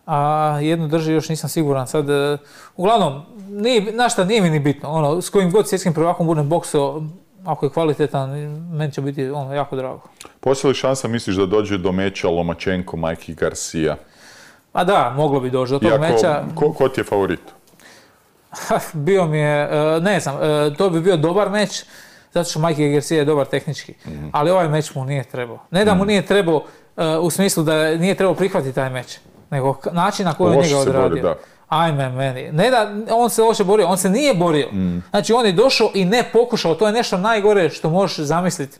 [SPEAKER 3] a jednu drži, još nisam siguran sad. Uh, uglavnom, nije, znaš šta, nije mi ni bitno, ono, s kojim god svjetskim prvakom budem boksao, ako je kvalitetan, meni će biti ono, jako drago.
[SPEAKER 2] Postoji li šansa, misliš, da dođe do meča Lomachenko, Mikey Garcia?
[SPEAKER 3] Pa da, moglo bi doći do tog
[SPEAKER 2] Iako,
[SPEAKER 3] meča.
[SPEAKER 2] Ko, ko ti je favorit?
[SPEAKER 3] Bio mi je, ne znam, to bi bio dobar meč, zato što Mikey Garcia je dobar tehnički. Mm-hmm. Ali ovaj meč mu nije trebao. Ne da mu nije trebao u smislu da nije trebao prihvatiti taj meč, nego način na koji on njega odradio. Bori, ajme meni. Ne da on se loše borio, on se nije borio. Mm. Znači on je došao i ne pokušao, to je nešto najgore što možeš zamisliti.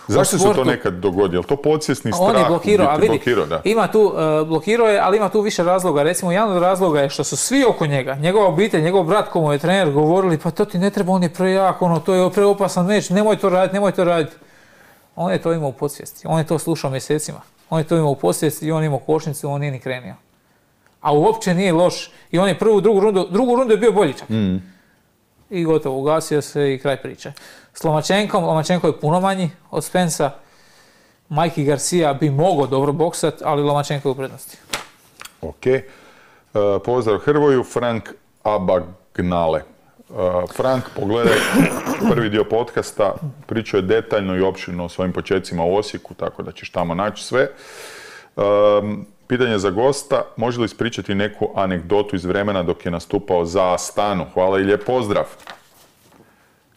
[SPEAKER 2] Zašto se to nekad dogodi? Je li to podsvjesni strah?
[SPEAKER 3] On je blokirao, a vidi,
[SPEAKER 2] blokirao, da.
[SPEAKER 3] Ima tu, uh, blokirao je, ali ima tu više razloga. Recimo, jedan od razloga je što su svi oko njega, njegova obitelj, njegov brat, ko mu je trener, govorili, pa to ti ne treba, on je prejak, ono, to je preopasan meč, nemoj to raditi, nemoj to raditi. On je to imao u podsvijesti, on je to slušao mjesecima. On je to imao u podsvijesti i on imao košnicu, on nije ni krenio. A uopće nije loš. I on je prvu, drugu rundu, drugu rundu je bio bolji čak. Mm. I gotovo, ugasio se i kraj priče. S Lomachenkom, Lomachenko je puno manji od Spensa. Mikey Garcia bi mogao dobro boksat, ali Lomachenko je u prednosti.
[SPEAKER 2] Ok. Uh, pozdrav Hrvoju, Frank Abagnale. Uh, Frank, pogledaj prvi dio podcasta, pričao je detaljno i opširno o svojim početcima u Osijeku, tako da ćeš tamo naći sve. Um, Pitanje za gosta, može li ispričati neku anegdotu iz vremena dok je nastupao za Astanu? Hvala i lijep pozdrav.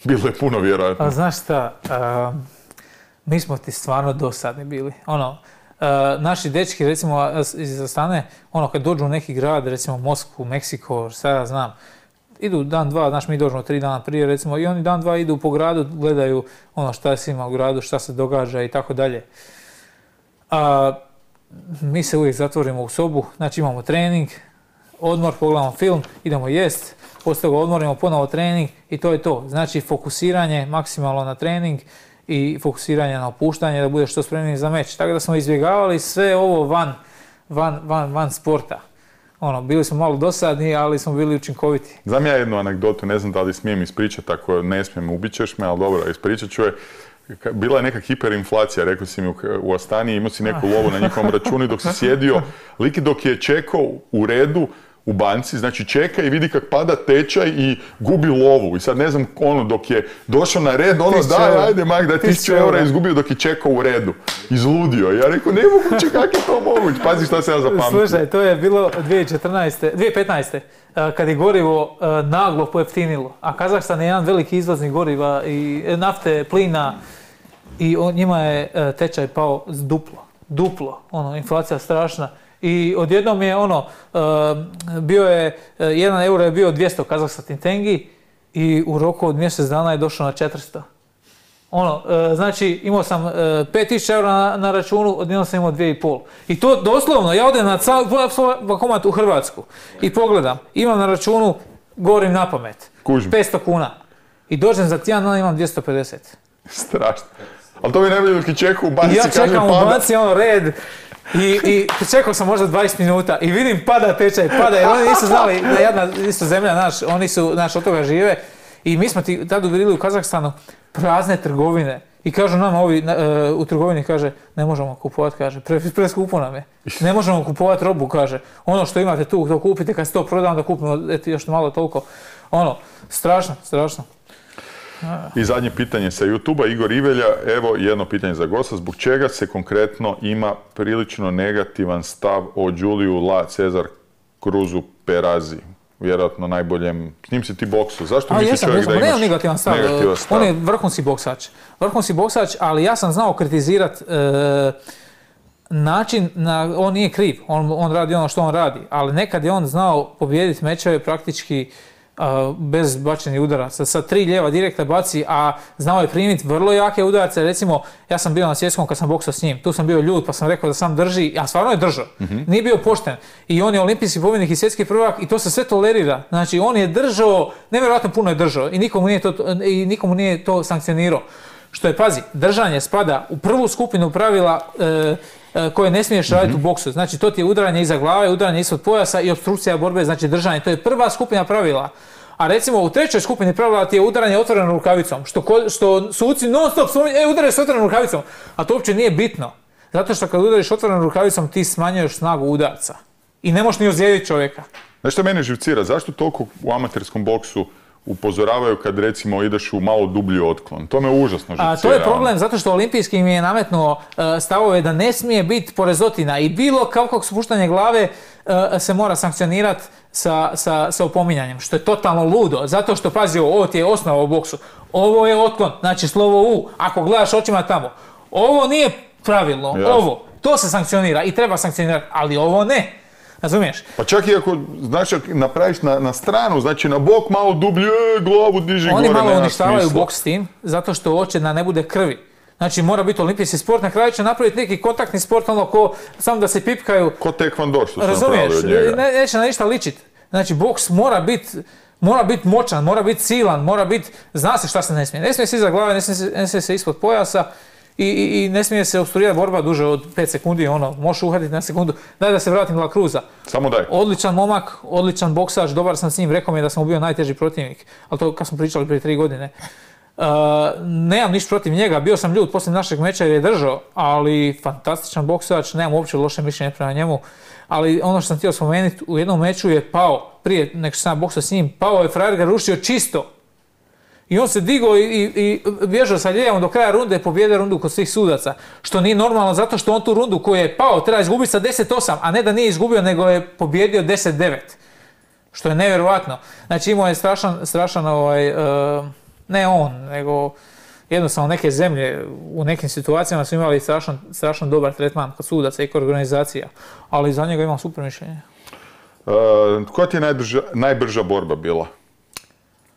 [SPEAKER 2] Bilo je puno, vjerojatno.
[SPEAKER 3] A, znaš šta, uh, mi smo ti stvarno dosadni bili. Ono, uh, naši dečki, recimo iz Astane, ono, kad dođu u neki grad, recimo Moskvu, Meksiko, šta ja znam, idu dan, dva, znaš, mi dođemo tri dana prije, recimo, i oni dan, dva idu po gradu, gledaju ono šta se ima u gradu, šta se događa i tako dalje. Mi se uvijek zatvorimo u sobu, znači imamo trening, odmor, pogledamo film, idemo jest, poslije toga odmorimo ponovo trening i to je to. Znači fokusiranje maksimalno na trening i fokusiranje na opuštanje da budeš što spremniji za meč. Tako da smo izbjegavali sve ovo van, van, van, van sporta. Ono, bili smo malo dosadni, ali smo bili učinkoviti.
[SPEAKER 2] Znam ja jednu anegdotu, ne znam da li smijem ispričati, ako ne smijem, ubit ćeš me, ali dobro, ispričat ću je. Bila je neka hiperinflacija, rekao si mi u Astani, imao si neku lovu na njihovom računu dok si sjedio. Liki dok je čekao u redu u banci, znači čeka i vidi kak pada tečaj i gubi lovu. I sad ne znam, ono, dok je došao na red, ono, daj, ajde, mak, da je tisuću eura izgubio dok je čekao u redu. Izludio. Ja rekao, ne moguće, kak je to moguće? Pazi šta se ja zapamtio.
[SPEAKER 3] Slušaj, to je bilo dvije tisuće četrnaeste, dvije tisuće petnaeste. Kad je gorivo naglo pojeftinilo. A Kazahstan je jedan veliki izvoznik goriva i nafte, plina. I on, njima je tečaj pao z duplo. Duplo. Ono, inflacija strašna. I odjednom je ono, uh, bio je, jedan euro je bio dvjesto kazahstan tengi i u roku od mjesec dana je došao na četiristo. Ono, e, znači imao sam e, pet tisuća eura na, na računu, odjednom sam imao dvije i pol. I to doslovno, ja odem na svoj bankomat u Hrvatsku i pogledam, imam na računu, govorim na pamet,
[SPEAKER 2] Kužim.
[SPEAKER 3] petsto kuna. I dođem za tjedan, dan imam dvjesto pedeset.
[SPEAKER 2] Strašno. Ali to mi ne bi čekao u banci.
[SPEAKER 3] I ja čekam u banci, ono, red. I, i čekao sam možda dvadeset minuta i vidim pada tečaj, pada, jer oni nisu znali da jedna isto zemlja, naš, oni su, naš, od toga žive. I mi smo ti tada bili u Kazahstanu, prazne trgovine. I kažu nama ovi uh, u trgovini, kaže, ne možemo kupovati, kaže, pre, preskupo nam je. Ne možemo kupovati robu, kaže. Ono što imate tu, to kupite, kad se to proda, onda kupimo eto, još malo toliko. Ono, strašno, strašno.
[SPEAKER 2] I zadnje pitanje sa YouTube-a, Igor Ivelja, evo jedno pitanje za gosta, zbog čega se konkretno ima prilično negativan stav o Juliju La Cezar Cruzu Perazi? Vjerojatno najboljem, s njim si ti boksu. Zašto misliš
[SPEAKER 3] jesam,
[SPEAKER 2] čovjek
[SPEAKER 3] jesam,
[SPEAKER 2] da imaš
[SPEAKER 3] negativan stav.
[SPEAKER 2] negativan stav?
[SPEAKER 3] On je vrhunski boksač. Vrhunski boksač, ali ja sam znao kritizirat e, način, na, on nije kriv, on, on radi ono što on radi, ali nekad je on znao pobijediti mečeve praktički Uh, bez bačenih udaraca. Sa tri lijeva direkta baci, a znao je primiti vrlo jake udarce. Recimo, ja sam bio na svjetskom kad sam boksao s njim. Tu sam bio ljud pa sam rekao da sam drži, a stvarno je držao. Mm-hmm. Nije bio pošten. I on je olimpijski pobjednik i svjetski prvak i to se sve tolerira. Znači, on je držao, nevjerojatno puno je držao i nikomu nije to, i nikomu nije to sankcionirao. Što je, pazi, držanje spada u prvu skupinu pravila e, e, koje ne smiješ raditi mm-hmm. u boksu. Znači, to ti je udaranje iza glave, udaranje ispod pojasa i opstrukcija borbe, znači držanje. To je prva skupina pravila. A recimo u trećoj skupini pravila ti je udaranje otvorenom rukavicom, što, ko, što suci non stop spominju, e, udaraš s otvorenom rukavicom. A to uopće nije bitno. Zato što kad udariš otvorenom rukavicom ti smanjuješ snagu udarca. I ne možeš ni ozlijediti čovjeka.
[SPEAKER 2] Znaš što mene živcira? Zašto toliko u amaterskom boksu upozoravaju kad recimo ideš u malo dublji otklon? To me užasno živcira.
[SPEAKER 3] A, to je problem zato što olimpijski mi je nametnuo uh, stavove da ne smije biti porezotina i bilo kakvog spuštanja glave uh, se mora sankcionirati sa, sa, sa opominjanjem, što je totalno ludo. Zato što, pazi, ovo ti je osnova u boksu. Ovo je otklon, znači slovo U, ako gledaš očima tamo. Ovo nije pravilno, yes. Ovo, to se sankcionira i treba sankcionirati, ali ovo ne. Razumiješ?
[SPEAKER 2] Pa čak i ako, znači, napraviš na, na stranu, znači na bok malo dublje, glavu diži
[SPEAKER 3] Oni
[SPEAKER 2] gore,
[SPEAKER 3] malo
[SPEAKER 2] nema
[SPEAKER 3] uništavaju
[SPEAKER 2] smisla.
[SPEAKER 3] boks s tim, zato što hoće da ne bude krvi. Znači mora biti olimpijski sport, na kraju će napraviti neki kontaktni sport, ono ko, samo da se pipkaju.
[SPEAKER 2] Ko taekwondo što su
[SPEAKER 3] razumiješ,
[SPEAKER 2] napravili od njega.
[SPEAKER 3] Ne, neće na ništa ličiti. Znači boks mora biti mora biti moćan, mora biti silan, mora biti, zna se šta se ne smije. Ne smije se iza glave, ne smije se, ne smije se ispod pojasa. I, i, i ne smije se opstruirati borba duže od pet sekundi, ono, možeš uhvatiti na sekundu. Daj da se vratim La Cruza.
[SPEAKER 2] Samo daj.
[SPEAKER 3] Odličan momak, odličan boksač, dobar sam s njim, rekao mi je da sam bio najteži protivnik, ali to kad smo pričali prije tri godine. Uh, nemam ništa protiv njega, bio sam ljud poslije našeg meča jer je držao, ali fantastičan boksač, nemam uopće loše mišljenje prema njemu. Ali ono što sam htio spomenuti, u jednom meču je pao, prije nek što sam boksao s njim, pao je, frajer ga rušio čisto. I on se digao i, i, i bježao sa lijevom do kraja runde, pobjedio rundu kod svih sudaca. Što nije normalno zato što on tu rundu koju je pao treba izgubiti sa deset osam, a ne da nije izgubio nego je pobjedio deset devet. Što je nevjerojatno. Znači imao je strašan, strašan ovaj, uh, ne on, nego jednostavno neke zemlje u nekim situacijama su imali strašan, strašan dobar tretman kod sudaca i kod organizacija. Ali za njega imam super mišljenje.
[SPEAKER 2] Uh, koja ti je najbrža, najbrža borba bila?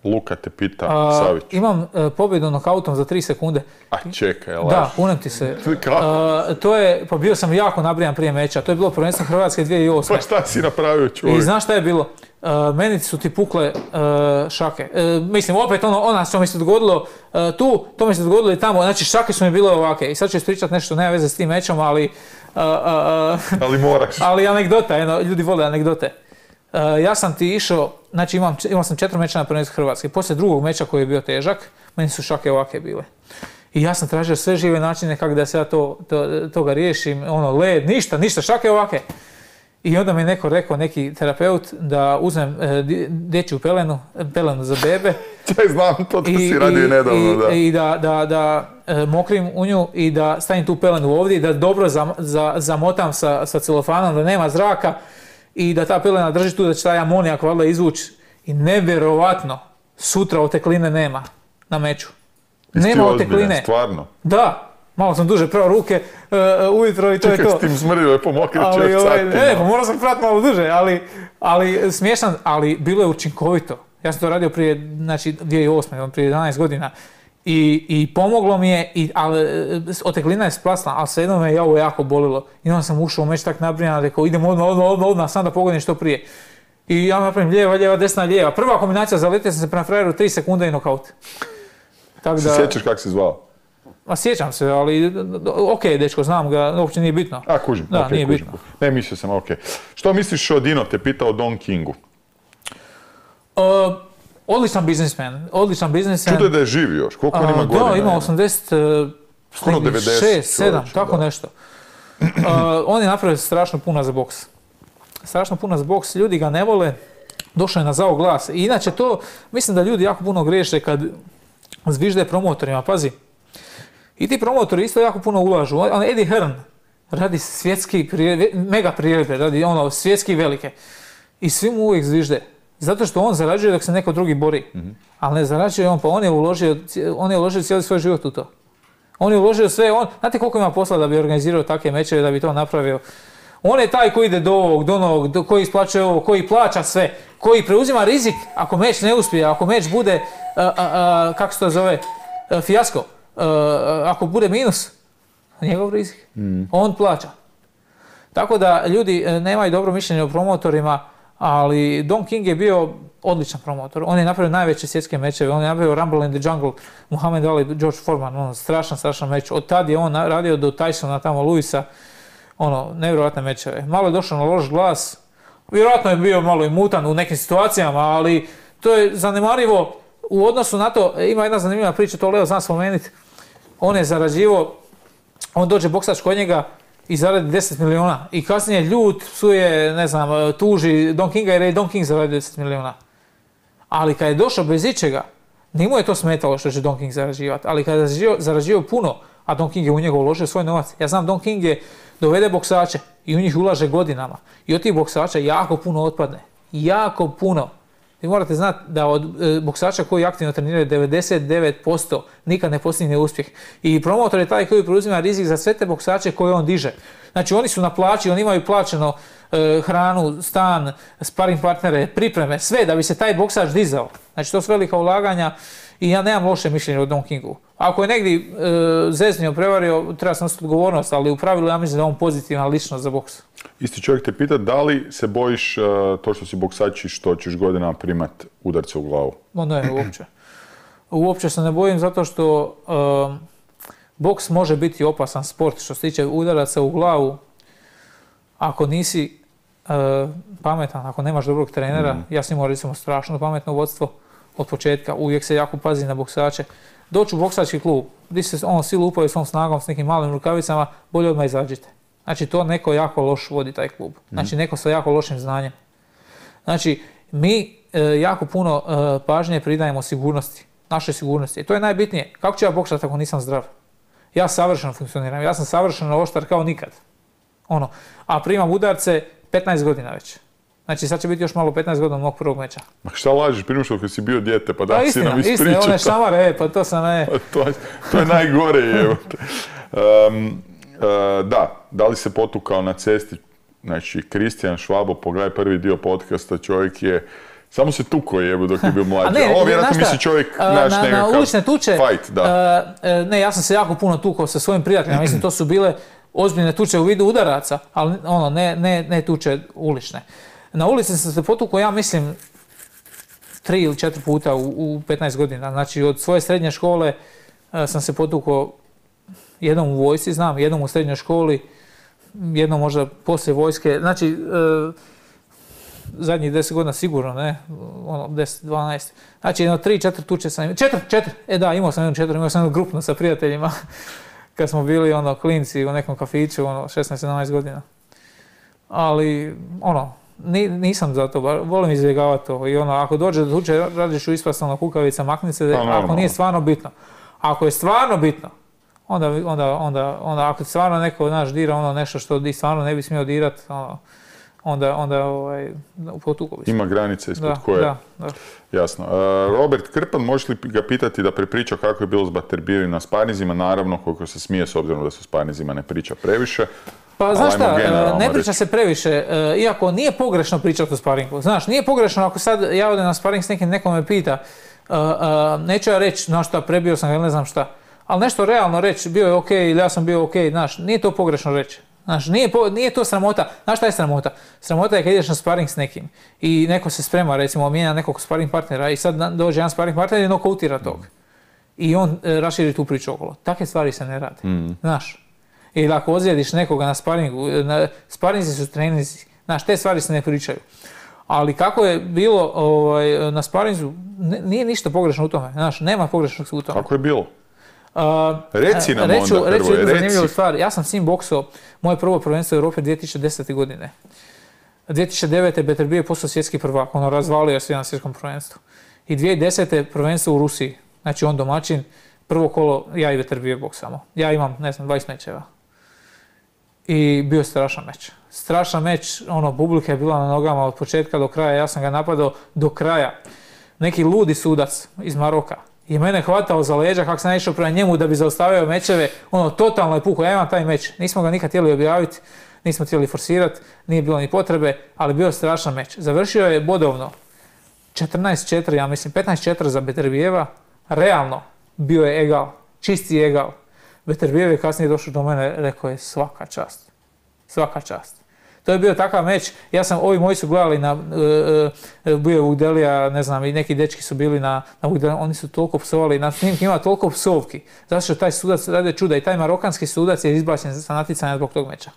[SPEAKER 2] Luka te pita,
[SPEAKER 3] A,
[SPEAKER 2] Savić.
[SPEAKER 3] Imam uh, pobjedu nokautom za tri sekunde.
[SPEAKER 2] A čekaj, laž.
[SPEAKER 3] Da, kunem ti se. Uh, to je, pa bio sam jako nabrijan prije meča. To je bilo prvenstvo Hrvatske dvije tisuće osme.
[SPEAKER 2] Pa šta si napravio, čovjek?
[SPEAKER 3] I znaš šta je bilo? Uh, meni su ti pukle uh, šake. Uh, mislim, opet ono, ona što mi se dogodilo uh, tu, to mi se dogodilo i tamo. Znači, šake su mi bile ovake. I sad ću ispričati nešto, nema veze s tim mečom, ali... Uh, uh,
[SPEAKER 2] ali moraš.
[SPEAKER 3] Ali anegdota, jedno, ljudi vole anegdote. Uh, ja sam ti išao, znači imam, imao sam četiri meča na prvenstvu Hrvatske. Poslije drugog meča koji je bio težak, meni su šake ovake bile. I ja sam tražio sve žive načine kako da se ja to, to, toga riješim, ono, led, ništa, ništa, šake ovake. I onda mi neko rekao, neki terapeut, da uzmem e, dječju pelenu, pelenu za bebe.
[SPEAKER 2] Čaj, znam, to, to si radio nedavno, da.
[SPEAKER 3] I, i da, da, da e, mokrim u nju i da stavim tu pelenu ovdje i da dobro zam, za, zamotam sa, sa celofanom, da nema zraka. I da ta pelena drži tu, da će taj amonijak valjda izvući. I nevjerovatno, sutra otekline nema na meču. Nema otekline.
[SPEAKER 2] Stvarno?
[SPEAKER 3] Da. Malo sam duže prao ruke uh, ujutro i to
[SPEAKER 2] Čekaj,
[SPEAKER 3] je to.
[SPEAKER 2] Čekaj, s tim smrdio je pomokrit čovjek
[SPEAKER 3] ovaj,
[SPEAKER 2] satima.
[SPEAKER 3] Ne, pa morao sam prati malo duže, ali, ali smiješan, ali bilo je učinkovito. Ja sam to radio prije, znači, dvije tisuće osme, prije jedanaest godina. I, i pomoglo mi je, i, ali oteklina je splasla, ali svejedno me je ovo jako bolilo. I onda sam ušao u meč tak nabrijan, rekao idem odmah, odmah, odmah, odmah, sam da pogodim što prije. I ja napravim lijeva, lijeva, desna, lijeva. Prva kombinacija, zaletio sam se prema frajeru, tri sekunde i nokaut.
[SPEAKER 2] Tak da... Se sjećaš kako si zvao?
[SPEAKER 3] Ma sjećam se, ali ok, dečko, znam ga, uopće nije bitno.
[SPEAKER 2] A, kužim,
[SPEAKER 3] da,
[SPEAKER 2] ok,
[SPEAKER 3] nije
[SPEAKER 2] kužim.
[SPEAKER 3] bitno.
[SPEAKER 2] Ne, mislio sam, ok. Što misliš o Dino, te pitao o Don Kingu?
[SPEAKER 3] Uh, odličan biznismen, odličan biznismen.
[SPEAKER 2] Čudo je da je živ još, koliko on ima godina?
[SPEAKER 3] Da, ima osamdeset, šest, sedam, tako da. Nešto. Uh, on je napravio strašno puno za boks. Strašno puno za boks, ljudi ga ne vole, došao je na zao glas. I inače to, mislim da ljudi jako puno griješe kad zvižde promotorima, pazi. I ti promotori isto jako puno ulažu. On, Eddie Hearn radi svjetski, mega priredbe, radi ono, svjetski velike. I svi mu uvijek zvižde. Zato što on zarađuje dok se neko drugi bori. Mm-hmm. Ali ne zarađuje on, pa on je uložio, on je uložio cijeli svoj život u to. On je uložio sve, on, znate koliko ima posla da bi organizirao takve mečeve, da bi to napravio. On je taj koji ide do ovog, do onog, do, koji isplaćuje ovo, koji plaća sve, koji preuzima rizik ako meč ne uspije, ako meč bude, a, a, a, kako se to zove, a, fijasko, a, a, ako bude minus, njegov rizik, mm. on plaća. Tako da ljudi nemaju dobro mišljenje o promotorima, ali Don King je bio odličan promotor. On je napravio najveće svjetske mečeve, on je napravio Rumble in the Jungle, Muhammad Ali, George Foreman, on strašan, strašan meč. Od tad je on radio do Tysona, tamo Luisa, ono, nevjerojatne mečeve. Malo je došao na loš glas, vjerojatno je bio malo i mutan u nekim situacijama, ali to je zanemarivo u odnosu na to. Ima jedna zanimljiva priča, to Leo zna spomenuti. On je zarađivao, on dođe boksač kod njega i zaradi deset miliona. I kasnije ljut, psuje, ne znam, tuži Don Kinga jer je Don King zaradio deset miliona. Ali kad je došao bez ičega, nije mu je to smetalo što će Don King zarađivati. Ali kad je zarađivao, zarađivao puno, a Don King je u njega uložio svoj novac. Ja znam, Don King je dovede boksače i u njih ulaže godinama. I od tih boksača jako puno otpadne. Jako puno. Vi morate znati da od e, boksača koji aktivno treniraju devedeset devet posto nikad ne postigne uspjeh. I promotor je taj koji preuzima rizik za sve te boksače koje on diže. Znači oni su na plaći, oni imaju plaćeno e, hranu, stan, sparing partnere, pripreme, sve da bi se taj boksač dizao. Znači to su velika ulaganja i ja nemam loše mišljenje o Don Kingu. Ako je negdje e, zeznio, prevario, treba sam nositi odgovornost, ali u pravilu ja mislim da je on pozitivna ličnost za boks.
[SPEAKER 2] Isti čovjek te pita da li se bojiš uh, to što si boksač i što ćeš godinama primat udarce u glavu?
[SPEAKER 3] No ne, uopće. Uopće se ne bojim zato što uh, boks može biti opasan sport što se tiče udaraca u glavu. Ako nisi uh, pametan, ako nemaš dobrog trenera, mm. ja sam imao recimo strašno pametno vodstvo od početka, uvijek se jako pazi na boksače. Doći u boksački klub, gdje se on silu upaju svom snagom s nekim malim rukavicama, bolje odmah izađite. Znači to neko jako loš vodi taj klub. Znači neko sa jako lošim znanjem. Znači mi e, jako puno e, pažnje pridajemo sigurnosti, našoj sigurnosti. I to je najbitnije. Kako ću ja boksati ako nisam zdrav? Ja savršeno funkcioniram, ja sam savršeno oštar kao nikad. Ono, a primam udarce petnaest godina već. Znači sad će biti još malo petnaest godina mog prvog meča.
[SPEAKER 2] Ma šta lažiš, prije što si bio dijete, pa da
[SPEAKER 3] pa
[SPEAKER 2] si nam ispričao.
[SPEAKER 3] Istina, one šamare, e, pa to sam ne.
[SPEAKER 2] to, to je najgore, evo. Um, Uh, da, da li se potukao na cesti, znači Kristijan Švabo, pogledaj prvi dio podcasta, čovjek je, samo se tukao jebo dok je bio mlađi.
[SPEAKER 3] Ne,
[SPEAKER 2] ovo vjerojatno misli čovjek
[SPEAKER 3] uh,
[SPEAKER 2] naš
[SPEAKER 3] na,
[SPEAKER 2] nekakav
[SPEAKER 3] na ulične tuče,
[SPEAKER 2] fight, da.
[SPEAKER 3] Uh, ne, ja sam se jako puno tukao sa svojim prijateljima, mislim to su bile ozbiljne tuče u vidu udaraca, ali ono, ne, ne, ne tuče ulične. Na ulici sam se potukao, ja mislim, tri ili četiri puta u, u petnaest godina, znači od svoje srednje škole uh, sam se potukao jednom u vojsci, znam, jednom u srednjoj školi, jednom možda poslije vojske, znači e, zadnjih deset godina sigurno, ne, ono, deset, dvanaest, znači jedno tri, četiri tuče sam imao, četiri, četiri, e da, imao sam jedno četiri, imao sam jedno grupno sa prijateljima, kad smo bili, ono, klinci u nekom kafiću, ono, šesnaest sedamnaest godina. Ali, ono, ni, nisam za to, volim izbjegavati to i ono, ako dođe do tuče, radiš u ispastalno kukavica, makni se, ako nije stvarno bitno. Ako je stvarno bitno, Onda, onda, onda, onda ako stvarno neko naš dira ono nešto što di stvarno ne bi smio dirati, ono, onda, onda ovaj, potuko bi se.
[SPEAKER 2] Ima granice ispod
[SPEAKER 3] Da,
[SPEAKER 2] koje.
[SPEAKER 3] da, da.
[SPEAKER 2] Jasno. Uh, Robert Krpan, možeš li ga pitati da prepriča kako je bilo s Butterbeerom na sparinzima? Naravno, koliko se smije, s obzirom da se s sparinzima ne priča previše.
[SPEAKER 3] Pa znaš
[SPEAKER 2] ajmo
[SPEAKER 3] šta,
[SPEAKER 2] generalno
[SPEAKER 3] ne priča
[SPEAKER 2] reći.
[SPEAKER 3] se previše, e, iako nije pogrešno pričati o sparingu. Znaš, nije pogrešno ako sad ja odem na sparing s nekim, neko me pita, e, e, neću ja reći, znaš šta, prebio sam ga ili ne znam šta, ali nešto realno reći, bio je ok ili ja sam bio ok, znaš, nije to pogrešno reći. Znaš, nije, po, nije to sramota. Znaš šta je sramota? Sramota je kad ideš na sparing s nekim i neko se sprema, recimo, mijenja nekog sparing partnera i sad dođe jedan sparing partner i nokautira tog. I on e, raširi tu priču okolo. Takve stvari se ne rade.
[SPEAKER 2] Mm.
[SPEAKER 3] Znaš, ili ako ozlijediš nekoga na sparingu, na, sparinzi su treninzi, znaš, te stvari se ne pričaju. Ali kako je bilo ovaj, na sparinzu, ne, nije ništa pogrešno u tome, znaš, nema pogrešnog u tome.
[SPEAKER 2] Kako je bilo?
[SPEAKER 3] Uh,
[SPEAKER 2] Reci nam
[SPEAKER 3] reću,
[SPEAKER 2] onda
[SPEAKER 3] reću
[SPEAKER 2] prvo,
[SPEAKER 3] jednu
[SPEAKER 2] reci.
[SPEAKER 3] zanimljivu stvar, ja sam s njim boksao moje prvo prvenstvo u Europe dvije tisuće desete. godine. dvije tisuće devete. Beterbiev je postao svjetski prvak, ono razvalio se na svjetskom prvenstvu. I dvije tisuće desete. prvenstvo u Rusiji, znači on domaćin, prvo kolo ja i Beterbiev boksamo. Ja imam, ne znam, dvadeset mečeva. I bio je strašan meč. Strašan meč, ono, publika je bila na nogama od početka do kraja, ja sam ga napadao do kraja. Neki ludi sudac iz Maroka i mene hvatao za leđa kako sam išao prema njemu da bi zaustavio mečeve, ono, totalno je pukao, ja imam taj meč. Nismo ga nikad htjeli objaviti, nismo htjeli forsirati, nije bilo ni potrebe, ali bio je strašan meč. Završio je bodovno četrnaest četiri, ja mislim, petnaest četiri za Beterbieva, realno bio je egal, čisti egal. Beterbiev je kasnije došao do mene, rekao je svaka čast, svaka čast. To je bio takav meč, ja sam, ovi moji su gledali na, uh, uh, bio je Vugdelija, ne znam, i neki dečki su bili na, na Vugdelija, oni su toliko psovali, na snimki ima toliko psovki, zato što taj sudac radi čuda i taj marokanski sudac je izbačen sa natjecanja zbog tog meča.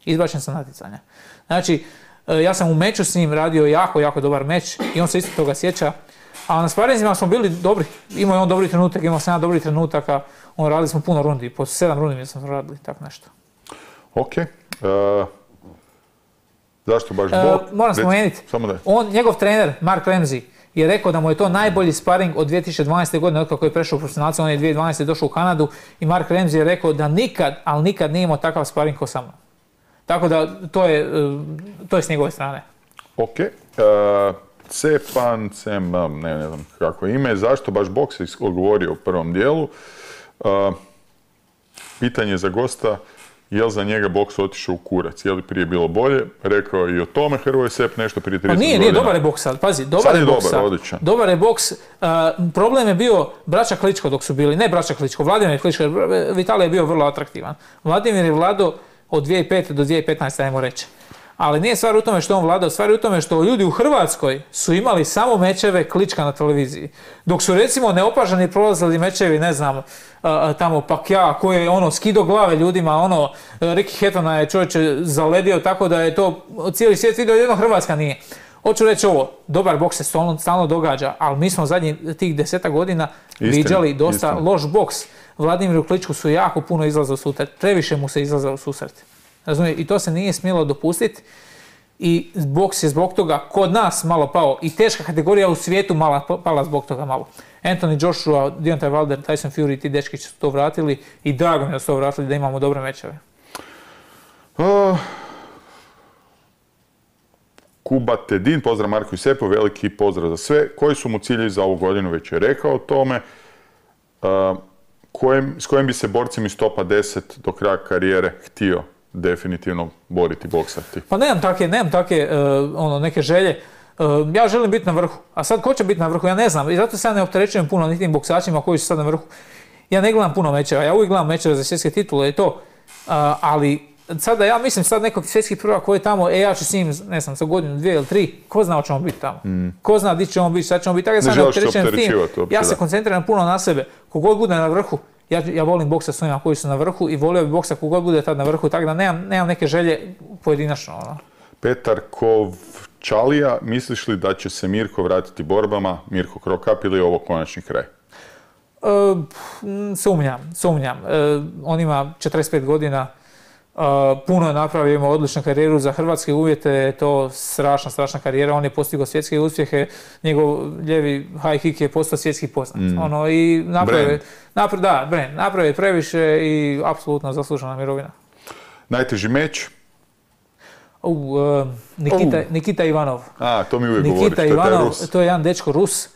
[SPEAKER 3] Izbačen sa natjecanja. Znači, uh, ja sam u meču s njim radio jako, jako dobar meč i on se isto toga sjeća, a na sparinzima smo bili dobri, imao je on dobri trenutak, imao sam ja dobri trenutaka, on radili smo puno rundi, po sedam rundi mi smo radili, tako nešto.
[SPEAKER 2] Ok. Uh... Zašto baš
[SPEAKER 3] Uh,
[SPEAKER 2] bok?
[SPEAKER 3] moram spomenuti, on, njegov trener Mark Ramsey je rekao da mu je to najbolji sparing od dvije tisuće dvanaeste. godine, od kako je prešao u profesionalce, on je dvije tisuće dvanaeste. došao u Kanadu i Mark Ramsey je rekao da nikad, ali nikad nije imao takav sparing kao sa mnom. Tako da to je, to je s njegove strane.
[SPEAKER 2] Ok. Uh, Cepan, Cem, ne, ne znam kako je ime, zašto baš boks je odgovorio u prvom dijelu. Uh, pitanje za gosta, je li za njega boks otišao u kurac? Je li prije bilo bolje? Rekao je i o tome Hrvoje Sepp nešto prije trideset godina.
[SPEAKER 3] Pa nije, nije, dobar je boks sad, pazi, dobar
[SPEAKER 2] sad
[SPEAKER 3] je,
[SPEAKER 2] je
[SPEAKER 3] boks
[SPEAKER 2] dobar,
[SPEAKER 3] sad.
[SPEAKER 2] odličan.
[SPEAKER 3] Dobar je boks, uh, problem je bio braća Kličko dok su bili, ne braća Kličko, Vladimir Kličko, Vitalij je bio vrlo atraktivan. Vladimir je vladao od dvije tisuće pete. do dvije tisuće petnaeste. ajmo reći. Ali nije stvar u tome što on vladao, stvar je u tome što ljudi u Hrvatskoj su imali samo mečeve Klička na televiziji. Dok su recimo neopaženi prolazili mečevi, ne znam, uh, tamo Pacquiao koji je ono skido glave ljudima, ono, Ricky Hattona je čovječe zaledio tako da je to cijeli svijet vidio, jedno Hrvatska nije. Hoću reći ovo, dobar boks se stalno, stalno događa, ali mi smo zadnjih tih deseta godina viđali dosta istina. Loš boks. Vladimiru Kličku su jako puno izlaza u susret, previše mu se izlaza u susret. Razumije? I to se nije smjelo dopustiti i boks je zbog toga kod nas malo pao i teška kategorija u svijetu mala, pala zbog toga malo. Anthony Joshua, Deontay Wilder, Tyson Fury, ti dečki su to vratili i drago mi da su to vratili da imamo dobre mečeve.
[SPEAKER 2] Uh, Kuba Tedin, pozdrav Marku i Sepu, veliki pozdrav za sve. Koji su mu ciljevi za ovu godinu, već je rekao o tome. Uh, kojem, s kojim bi se borcem iz topa deset do kraja karijere htio definitivno boriti, boksati?
[SPEAKER 3] Pa nemam take, nemam take uh, ono, neke želje. Uh, ja želim biti na vrhu. A sad ko će biti na vrhu? Ja ne znam. I zato se ja ne opterećujem puno ni tim boksačima koji su sad na vrhu. Ja ne gledam puno mečeva. Ja uvijek gledam mečeve za svjetske titule i to. Uh, ali sada ja mislim sad nekog svjetskih prvaka koji je tamo, e ja ću s njim, ne znam, za godinu, dvije ili tri, ko zna o čemu biti tamo. Mm. Ko zna di ćemo biti, sad ćemo biti. Tako ja sad ne opterećujem tim. Ja se koncentriram puno na sebe. Kogod bude na vrhu, Ja, ja volim boksa s onima koji su na vrhu i volio bi boksa kogod bude tad na vrhu, tako da nemam, nemam neke želje pojedinačno. Ono.
[SPEAKER 2] Petar Kovčalija, misliš li da će se Mirko vratiti borbama, Mirko Krokap, ili je ovo konačni kraj?
[SPEAKER 3] E, sumnjam, sumnjam. E, on ima četrdeset pet godina, e, puno je napravio, ima odličnu karijeru za hrvatske uvjete, je to strašna, strašna karijera, on je postigao svjetske uspjehe, njegov ljevi high kick je postao svjetski poznat. Mm. Ono, i napravio, naprav, da, brand, napravio je previše i apsolutno zaslužena mirovina.
[SPEAKER 2] Najteži meč?
[SPEAKER 3] U, uh, Nikita,
[SPEAKER 2] Uh.
[SPEAKER 3] Nikita Ivanov.
[SPEAKER 2] A, to mi uvijek
[SPEAKER 3] Nikita
[SPEAKER 2] govoriš, to je taj
[SPEAKER 3] Ivanov,
[SPEAKER 2] Rus.
[SPEAKER 3] to je jedan dečko Rus.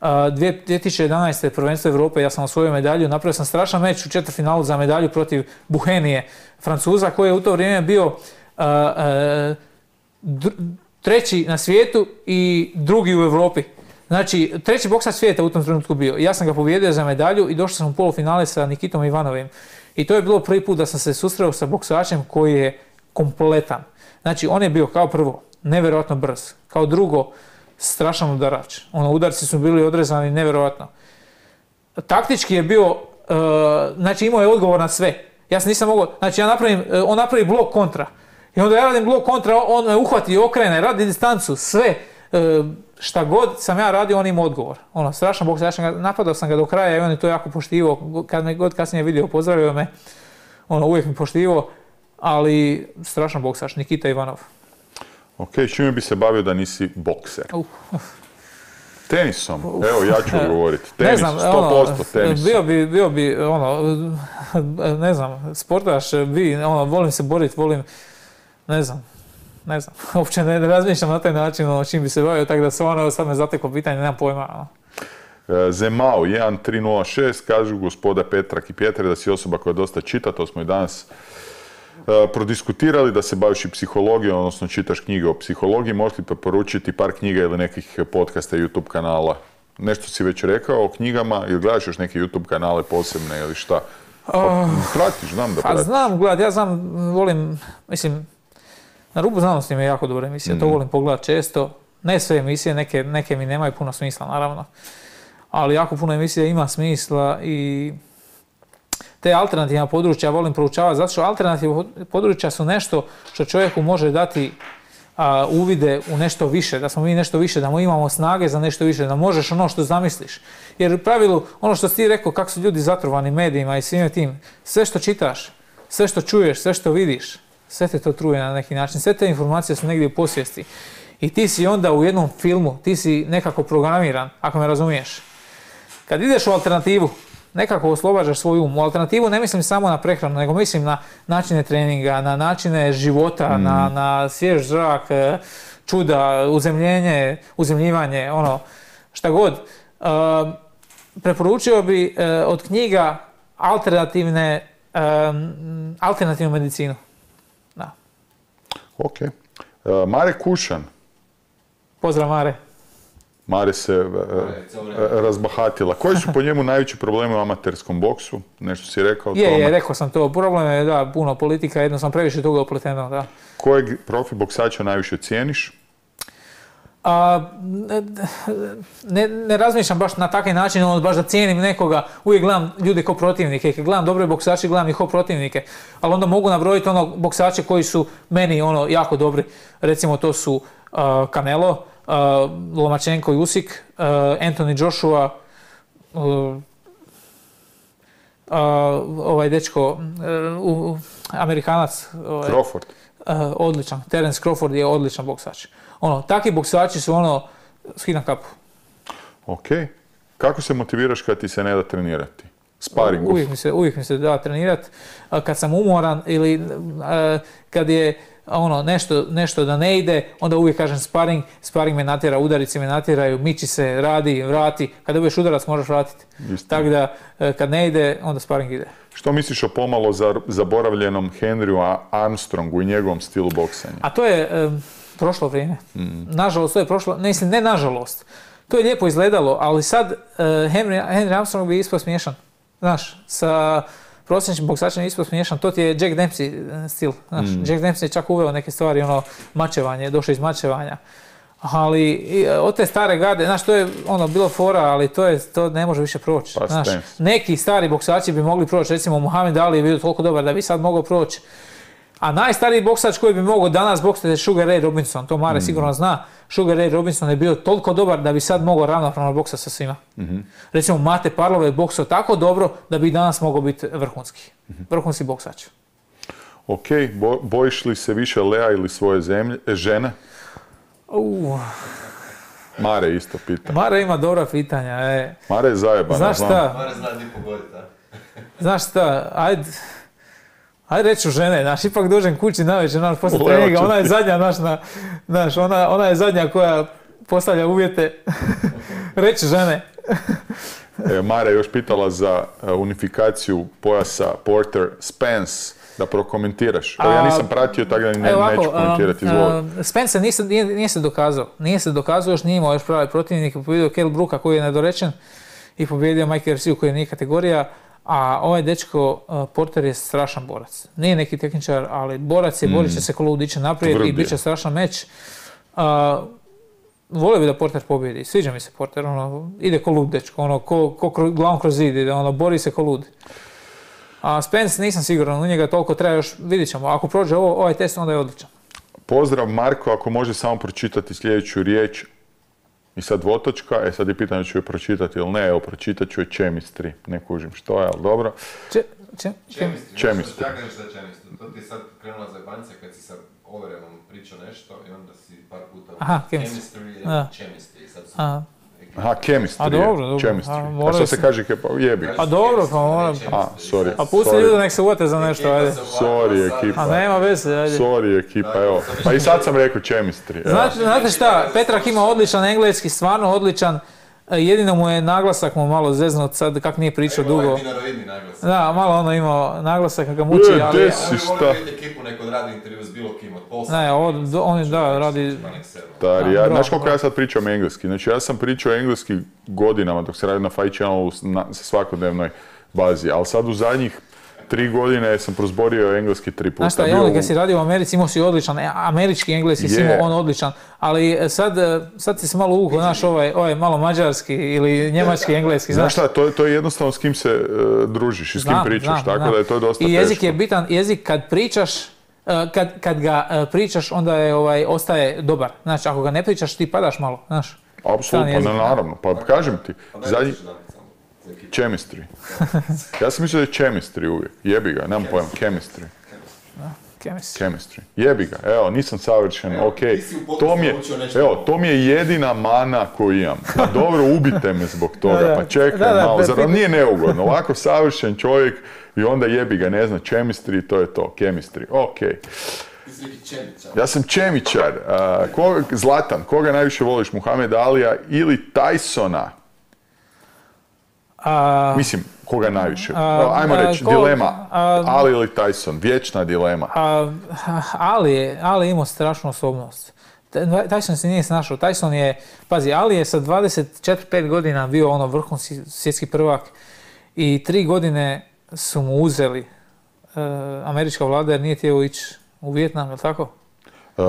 [SPEAKER 3] Uh, dvije tisuće jedanaeste. prvenstvo Europe, ja sam osvojio medalju, napravio sam strašan meč u četvrtfinalu za medalju protiv Buhenije, Francuza, koji je u to vrijeme bio uh, uh, dr- treći na svijetu i drugi u Europi. Znači, treći boksač svijeta u tom trenutku bio. Ja sam ga pobijedio za medalju i došao sam u polufinale sa Nikitom Ivanovim. I to je bilo prvi put da sam se susreo sa boksačem koji je kompletan. Znači, on je bio kao prvo nevjerojatno brz, kao drugo strašan udarač. Ono, udarci su bili odrezani nevjerojatno. Taktički je bio, uh, znači imao je odgovor na sve. Ja sam nisam mogao, znači ja napravim, uh, on napravi blok kontra. I onda ja radim blok kontra, on me uhvati, okrene, radi distancu, sve. Uh, šta god sam ja radio, on ima odgovor. Ono, strašan boks, ja sam ga, napadao sam ga do kraja i on je to jako poštivao. Kad me god kasnije vidio, pozdravio me, ono, uvijek mi poštivao, ali strašan boksač, Nikita Ivanov.
[SPEAKER 2] Ok, čime bi se bavio da nisi bokser?
[SPEAKER 3] Uh.
[SPEAKER 2] Tenisom, evo ja ću odgovoriti. Tenis,
[SPEAKER 3] ne znam,
[SPEAKER 2] sto posto
[SPEAKER 3] ono,
[SPEAKER 2] tenis.
[SPEAKER 3] Bio bi, bio bi, ono, ne znam, sportaš, bi, ono, volim se boriti, volim, ne znam, ne znam, uopće ne, ne razmišljam na taj način, ono, čim bi se bavio, tako da se ono, sad me zateko pitanje, nemam pojma, ono.
[SPEAKER 2] Zemao jedan tri nula šest, kažu gospoda Petrak i Pjetre da si osoba koja dosta čita, to smo i danas uh, prodiskutirali, da se baviš i psihologijom, odnosno čitaš knjige o psihologiji, možeš li preporučiti par knjiga ili nekih podcasta, YouTube kanala? Nešto si već rekao o knjigama ili gledaš još neke YouTube kanale posebne ili šta? Pa, pratiš, znam da
[SPEAKER 3] Pa
[SPEAKER 2] pratiš.
[SPEAKER 3] znam, gledaj, ja znam, volim, mislim, Na rubu znanosti mi je jako dobra emisija, mm. to volim pogledati često. Ne sve emisije, neke, neke mi nemaju puno smisla, naravno. Ali jako puno emisija ima smisla i te alternativna područja volim proučavati, zato što alternativna područja su nešto što čovjeku može dati a, uvide u nešto više, da smo mi nešto više, da mu imamo snage za nešto više, da možeš ono što zamisliš. Jer u pravilu, ono što si ti rekao, kako su ljudi zatrovani medijima i svime tim, sve što čitaš, sve što čuješ, sve što vidiš, sve te to truje na neki način, sve te informacije su negdje u posvijesti. I ti si onda u jednom filmu, ti si nekako programiran, ako me razumiješ. Kad ideš u alternativu, nekako oslobađaš svoj um. U alternativu ne mislim samo na prehranu, nego mislim na načine treninga, na načine života, mm. na, na svjež zrak, čuda, uzemljenje, uzemljivanje, ono, šta god. Uh, preporučio bi uh, od knjiga alternativne, um, alternativnu medicinu. Da.
[SPEAKER 2] Ok. Uh, Mare Kušan.
[SPEAKER 3] Pozdrav, Mare.
[SPEAKER 2] Mare se uh, razbahatila. Koji su po njemu najveći problemi u amaterskom boksu? Nešto si rekao o
[SPEAKER 3] je,
[SPEAKER 2] tome?
[SPEAKER 3] Je, rekao sam to. Problem je, da, puno politika, jedno sam previše toga upleteno, da.
[SPEAKER 2] Kojeg profi boksača najviše cijeniš?
[SPEAKER 3] A, ne, ne razmišljam baš na takav način, ono, baš da cijenim nekoga, uvijek gledam ljude kao protivnike, kad gledam dobre boksače, gledam ih kao protivnike, ali onda mogu nabrojiti ono boksače koji su meni ono jako dobri, recimo to su uh, Canelo, uh, Lomachenko i Usyk, uh, Anthony Joshua, uh, uh, ovaj dečko, uh, uh, Amerikanac, ovaj,
[SPEAKER 2] Crawford.
[SPEAKER 3] Uh, odličan, Terence Crawford je odličan boksač. Ono, takvi boksači su ono, skina kapu.
[SPEAKER 2] Ok. Kako se motiviraš kad ti se ne da trenirati? Sparingu?
[SPEAKER 3] Uvijek mi se, uvijek mi se da trenirati. Kad sam umoran ili uh, kad je ono, nešto, nešto da ne ide, onda uvijek kažem sparing. Sparing me natjera, udarici me natjeraju, miči se, radi, vrati. Kada dobiješ udarac možeš vratiti. Tako da uh, kad ne ide, onda sparing ide.
[SPEAKER 2] Što misliš o pomalo zaboravljenom Henryu Armstrongu i njegovom stilu boksanja?
[SPEAKER 3] A to je um, prošlo vrijeme. Mm. Nažalost, to je prošlo, ne mislim, ne nažalost. To je lijepo izgledalo, ali sad uh, Henry, Henry Armstrong bi ispao smiješan. Znaš, sa prosječnim boksačem je ispao smiješan. To ti je Jack Dempsey stil. Znaš, mm. Jack Dempsey je čak uveo neke stvari, ono, mačevanje, došao iz mačevanja. Ali i, od te stare garde, znaš, to je ono bilo fora, ali to je to ne može više proći.
[SPEAKER 2] Pa,
[SPEAKER 3] znaš, neki stari boksači bi mogli proći, recimo Muhammed Ali je bio toliko dobar da bi sad mogao proći. A najstariji boksač koji bi mogao danas boksati je Sugar Ray Robinson, to Mare mm. sigurno zna. Sugar Ray Robinson je bio toliko dobar da bi sad mogao ravnopravno boksati sa svima. Mm-hmm. Recimo Mate Parlov je boksao tako dobro da bi danas mogao biti vrhunski. Mm-hmm. Vrhunski boksač.
[SPEAKER 2] Ok, Bo, bojiš li se više Lea ili svoje zemlje, žene?
[SPEAKER 3] Uh.
[SPEAKER 2] Mare isto pita.
[SPEAKER 3] Mare ima dobra pitanja. E.
[SPEAKER 2] Mare je zajebana.
[SPEAKER 3] Znaš šta?
[SPEAKER 1] Mare zna di pogoditi, a?
[SPEAKER 3] Znaš šta, ajde, Ajde reću žene, znaš, ipak dođem kući navečer, znaš, poslije
[SPEAKER 2] Levo
[SPEAKER 3] treninga,
[SPEAKER 2] ću
[SPEAKER 3] ona je
[SPEAKER 2] ti.
[SPEAKER 3] zadnja, znaš, na, znaš, ona, ona je zadnja koja postavlja uvjete. Reći žene.
[SPEAKER 2] E, Mara je još pitala za e, unifikaciju pojasa Porter Spence, da prokomentiraš. Evo, ja
[SPEAKER 3] A,
[SPEAKER 2] nisam pratio, tako da ne,
[SPEAKER 3] Evo ovako,
[SPEAKER 2] neću komentirati,
[SPEAKER 3] um,
[SPEAKER 2] izvoli.
[SPEAKER 3] um, Spence se nije, nije, nije se dokazao. Nije se dokazao, još nije imao još pravi protivnik. Pobjedio Kell Brooka koji je nedorečen i pobjedio Mike Garcia koji nije kategorija. A ovaj dečko uh, Porter je strašan borac. Nije neki tehničar, ali borac je, mm. borit će se ko lud, iće naprijed
[SPEAKER 2] Tvrd
[SPEAKER 3] i
[SPEAKER 2] je.
[SPEAKER 3] bit će strašan meč. Uh, volio bi da Porter pobjedi. Sviđa mi se Porter, ono, ide ko lud dečko, ono, ko, ko kro, glavom kroz zid ide, ono, bori se ko lud. A Spence nisam siguran, u njega toliko treba još, vidit ćemo. Ako prođe ovo, ovaj test, onda je odličan.
[SPEAKER 2] Pozdrav Marko, ako može samo pročitati sljedeću riječ. I sad dvotočka, e sad je pitanje ću je pročitati ili ne, evo pročitat ću je chemistry. Ne kužim što je, ali dobro.
[SPEAKER 3] Če, če,
[SPEAKER 1] Chemistry.
[SPEAKER 2] Chemistry.
[SPEAKER 1] Ja kažeš da je chemistry. To ti je sad krenula za jebancija kad si sa Overemom pričao nešto i onda si par puta...
[SPEAKER 3] Aha, chemistry.
[SPEAKER 1] Chemistry i
[SPEAKER 3] Da.
[SPEAKER 1] chemistry. Sad su...
[SPEAKER 3] a,
[SPEAKER 2] Aha, chemistry
[SPEAKER 3] A dobro,
[SPEAKER 2] je,
[SPEAKER 3] dobro.
[SPEAKER 2] chemistry.
[SPEAKER 3] A,
[SPEAKER 2] A,
[SPEAKER 3] moraju
[SPEAKER 2] što se
[SPEAKER 3] se-
[SPEAKER 2] kaže, ke- pa jebi.
[SPEAKER 3] a dobro, pa moram...
[SPEAKER 2] A, sorry.
[SPEAKER 3] A pusti
[SPEAKER 2] sorry.
[SPEAKER 3] ljude nek se uvate za nešto, ajde.
[SPEAKER 2] Sorry, ekipa.
[SPEAKER 3] A nema veze, ajde.
[SPEAKER 2] Sorry ekipa, evo. Pa i sad sam rekao chemistry. evo.
[SPEAKER 3] Znate, znate šta, Petrak ima odličan engleski, stvarno odličan. E, Jedino mu je naglasak mu malo zeznut sad kak nije pričao dugo.
[SPEAKER 1] Ovo je dinaroidni naglas.
[SPEAKER 3] Da, malo ono imao naglasak kako ga muči,
[SPEAKER 2] E,
[SPEAKER 3] ali...
[SPEAKER 2] des-
[SPEAKER 1] Oni
[SPEAKER 2] Si
[SPEAKER 1] vole
[SPEAKER 2] šta?
[SPEAKER 1] vidjeti ekipu neko radi intervju s bilo kim od posla.
[SPEAKER 3] Ne, ovo, do- on je, da, radi...
[SPEAKER 2] Stari,
[SPEAKER 3] Da,
[SPEAKER 2] ja,
[SPEAKER 3] bravo,
[SPEAKER 2] znaš koliko
[SPEAKER 3] bravo.
[SPEAKER 2] ja sad pričam engleski? Znači ja sam pričao engleski godinama dok se radi na Fight Channelu s- na sa svakodnevnoj bazi, ali sad u zadnjih tri godine sam prozborio engleski tri puta.
[SPEAKER 3] Znaš šta,
[SPEAKER 2] Bio
[SPEAKER 3] on
[SPEAKER 2] u-
[SPEAKER 3] kad si radio u Americi imao si odličan, e, američki engleski si
[SPEAKER 2] Je.
[SPEAKER 3] imao on odličan, ali e, sad, e, sad si se malo uvuko, znaš, ovaj, ovaj malo mađarski ili njemački engleski,
[SPEAKER 2] Znaš
[SPEAKER 3] znaš.
[SPEAKER 2] šta, to, je- to je jednostavno s kim se e, družiš i s kim
[SPEAKER 3] Znam,
[SPEAKER 2] pričaš,
[SPEAKER 3] znam,
[SPEAKER 2] tako
[SPEAKER 3] znam.
[SPEAKER 2] da je to dosta
[SPEAKER 3] I jezik
[SPEAKER 2] teško.
[SPEAKER 3] je bitan, jezik kad pričaš, e, kad, kad ga e, pričaš, onda je, ovaj, ostaje dobar. Znači, ako ga ne pričaš, ti padaš malo, znaš. Strani
[SPEAKER 2] Apsolutno,
[SPEAKER 3] jezik,
[SPEAKER 2] ne,
[SPEAKER 3] da.
[SPEAKER 2] naravno. Pa kažem ti,
[SPEAKER 1] Pa
[SPEAKER 2] zadnji... Chemistry. Ja sam mislio da je chemistry uvijek. Jebi ga, nemam pojma. Chemistry.
[SPEAKER 3] Kemis.
[SPEAKER 2] Chemistry. Jebi ga. Evo, nisam savršen,
[SPEAKER 1] Evo,
[SPEAKER 2] ok.
[SPEAKER 1] ti si u podcastu
[SPEAKER 2] To mi je,
[SPEAKER 1] naučio nešto
[SPEAKER 2] evo,
[SPEAKER 1] novo.
[SPEAKER 2] to mi je jedina mana koju imam. Pa dobro, ubite me zbog toga.
[SPEAKER 3] Da, da.
[SPEAKER 2] Pa čekaj
[SPEAKER 3] Da, da,
[SPEAKER 2] malo.
[SPEAKER 3] pe-
[SPEAKER 2] Zar vam
[SPEAKER 3] pe-
[SPEAKER 2] nije neugodno? Ovako savršen čovjek i onda jebi ga, ne zna, chemistry, to je to. Chemistry. Ok.
[SPEAKER 1] Ti si neki čemičar.
[SPEAKER 2] Ja sam čemičar. A, koga- Zlatan, koga najviše voliš? Muhammed Alija ili Tysona?
[SPEAKER 3] A,
[SPEAKER 2] Mislim, koga najviše?
[SPEAKER 3] a,
[SPEAKER 2] Ajmo
[SPEAKER 3] a,
[SPEAKER 2] reći,
[SPEAKER 3] ko-
[SPEAKER 2] dilema.
[SPEAKER 3] a-
[SPEAKER 2] Ali ili Tyson? Vječna dilema.
[SPEAKER 3] a, Ali je, Ali je imao strašnu osobnost. Tyson se nije snašao. Tyson je, pazi, Ali je sa dvadeset četiri pet godina bio ono vrhunski svjetski prvak i tri godine su mu uzeli e, američka vlada jer nije htio ići u Vijetnam, je li tako?
[SPEAKER 2] E,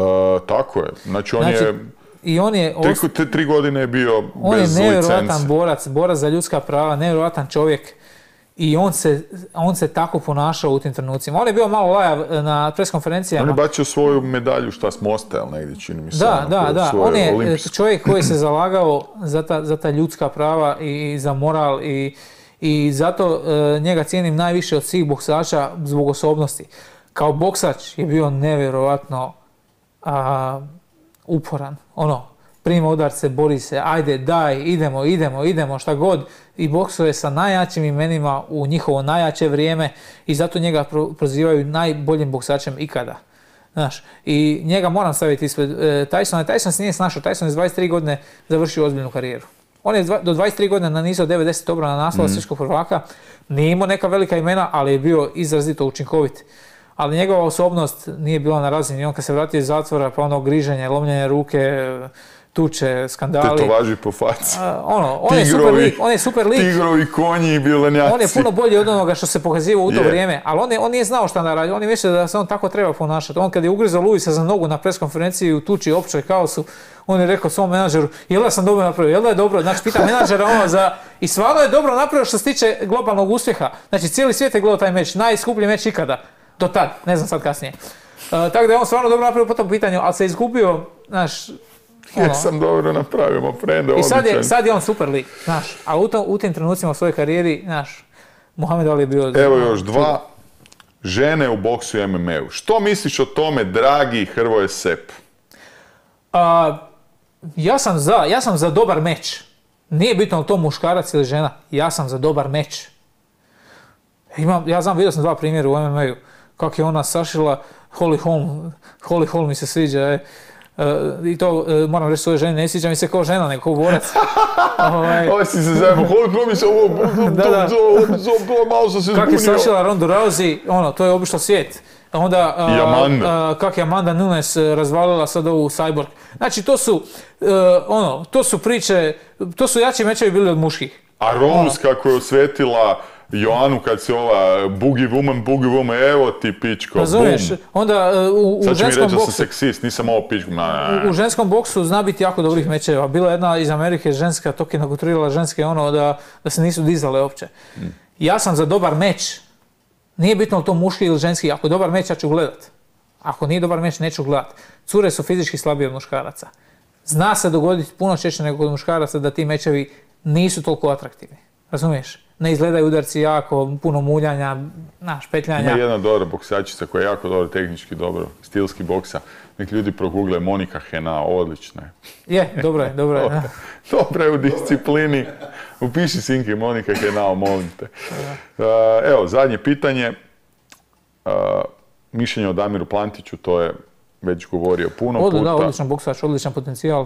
[SPEAKER 2] tako je. Znači, on
[SPEAKER 3] Znači,
[SPEAKER 2] je...
[SPEAKER 3] I on je,
[SPEAKER 2] Tri,
[SPEAKER 3] os-
[SPEAKER 2] te tri godine je bio
[SPEAKER 3] on je
[SPEAKER 2] bez
[SPEAKER 3] nevjerojatan
[SPEAKER 2] licence.
[SPEAKER 3] borac, borac za ljudska prava, nevjerojatan čovjek. I on se, on se tako ponašao u tim trenucima. On je bio malo lajav na preskonferencijama.
[SPEAKER 2] On je bacio svoju medalju, šta s Mosta, jel negdje, čini mi se.
[SPEAKER 3] Da,
[SPEAKER 2] ono,
[SPEAKER 3] da,
[SPEAKER 2] koju
[SPEAKER 3] da.
[SPEAKER 2] svoju
[SPEAKER 3] On je
[SPEAKER 2] olimpijsku.
[SPEAKER 3] čovjek koji se zalagao za ta, za ta ljudska prava i, i za moral i, i zato e, njega cijenim najviše od svih boksača zbog osobnosti. Kao boksač je bio nevjerojatno a, uporan. Ono, prima udarce, bori se, ajde, daj, idemo, idemo, idemo, šta god. I boksuje sa najjačim imenima u njihovo najjače vrijeme i zato njega pro- prozivaju najboljim boksačem ikada. Znaš, i njega moram staviti ispred e, Tysona. Tyson se nije snašao, Tyson je s dvadeset tri godine završio ozbiljnu karijeru. On je dva- do dvadeset tri godine nanizao devedeset obrana naslova svjetskog prvaka, nije imao neka velika imena, ali je bio izrazito učinkovit. Ali njegova osobnost nije bila na razini. On kad se vratio iz zatvora, pa ono griženje, lomljenje ruke, tuče, skandali.
[SPEAKER 2] Tetovaži po faci.
[SPEAKER 3] A, ono, on je super
[SPEAKER 2] Tigrovi,
[SPEAKER 3] lik, on je super lik.
[SPEAKER 2] Tigrovi, konji i bilenjaci.
[SPEAKER 3] On je puno bolji od onoga što se pokazivao u to
[SPEAKER 2] Je.
[SPEAKER 3] vrijeme, ali on, je, on nije znao šta da radi, on je mislio da se on tako treba ponašati. On kad je ugrizao Luisa za nogu na preskonferenciji u tuči općoj kaosu, on je rekao svom menadžeru, jel da sam dobro napravio, jel da je dobro, znači pita menadžera ono za... I stvarno je dobro napravio što se tiče globalnog uspjeha. Znači cijeli svijet je gledao taj meč, najskuplji meč ikada, do tad, ne znam sad kasnije. Uh, tako da je on stvarno dobro napravio po tom pitanju, ali se izgubio, znaš, ono,
[SPEAKER 2] Jesam dobro napravio, ma frende,
[SPEAKER 3] i sad je,
[SPEAKER 2] odličan.
[SPEAKER 3] sad je on super lik, znaš, a u, to, u tim trenucima u svojoj karijeri, znaš, Muhammed Ali je bio...
[SPEAKER 2] Evo još dva. Žene u boksu i em em a-u. Što misliš o tome, dragi Hrvoje Sep?
[SPEAKER 3] A, ja sam za, ja sam za dobar meč. Nije bitno li to muškarac ili žena, ja sam za dobar meč. Imam, ja znam, vidio sam dva primjera u em em a-u. Kako je ona sašila Holly Holm, Holly Holm mi se sviđa, e. Uh, I to uh, moram reći svoje žene, ne sviđa mi se kao žena, nego kao borac. ovaj...
[SPEAKER 2] Ovo si se zajedno, Holly Holm mi se ovo,
[SPEAKER 3] da, da.
[SPEAKER 2] malo sam se zbunio.
[SPEAKER 3] Kako je sašila Ronda Rousey, ono, to je obišlo svijet. Onda, uh,
[SPEAKER 2] I Amanda.
[SPEAKER 3] Uh, kako je Amanda Nunes razvalila sad ovu Cyborg. Znači, to su, uh, ono, to su priče, to su jači mečevi bili od muških.
[SPEAKER 2] A Rose ono. Kako je osvetila Joanu kad se ova boogie woman, boogie woman, evo ti pičko,
[SPEAKER 3] razumiješ,
[SPEAKER 2] bum.
[SPEAKER 3] Onda u, u
[SPEAKER 2] sad
[SPEAKER 3] ženskom boksu... Sad će mi reći
[SPEAKER 2] da sam seksist, nisam ovo pičko.
[SPEAKER 3] U, u ženskom boksu zna biti jako dobrih mečeva. Bila jedna iz Amerike ženska, tok je naguturirala ženske ono da, da se nisu dizale uopće. Hmm. Ja sam za dobar meč. Nije bitno li to muški ili ženski, ako je dobar meč ja ću gledat. Ako nije dobar meč neću gledat. Cure su fizički slabije od muškaraca. Zna se dogoditi puno češće nego kod muškaraca da ti mečevi nisu toliko atraktivni. Razumiješ? Ne izgledaju udarci jako, puno muljanja, naš, petljanja.
[SPEAKER 2] Ima jedna dobra boksačica koja je jako dobro, tehnički dobro, stilski boksa. Neki ljudi progugle Monika Henao, odlična je.
[SPEAKER 3] Je, dobro je, dobro je.
[SPEAKER 2] Dobra je u disciplini. Upiši Sinki Monika Henao, molim te. Uh, evo, zadnje pitanje. Uh, mišljenje o Damiru Plantiću, to je već govorio puno
[SPEAKER 3] Od,
[SPEAKER 2] puta.
[SPEAKER 3] Da, odličan boksač, odličan potencijal.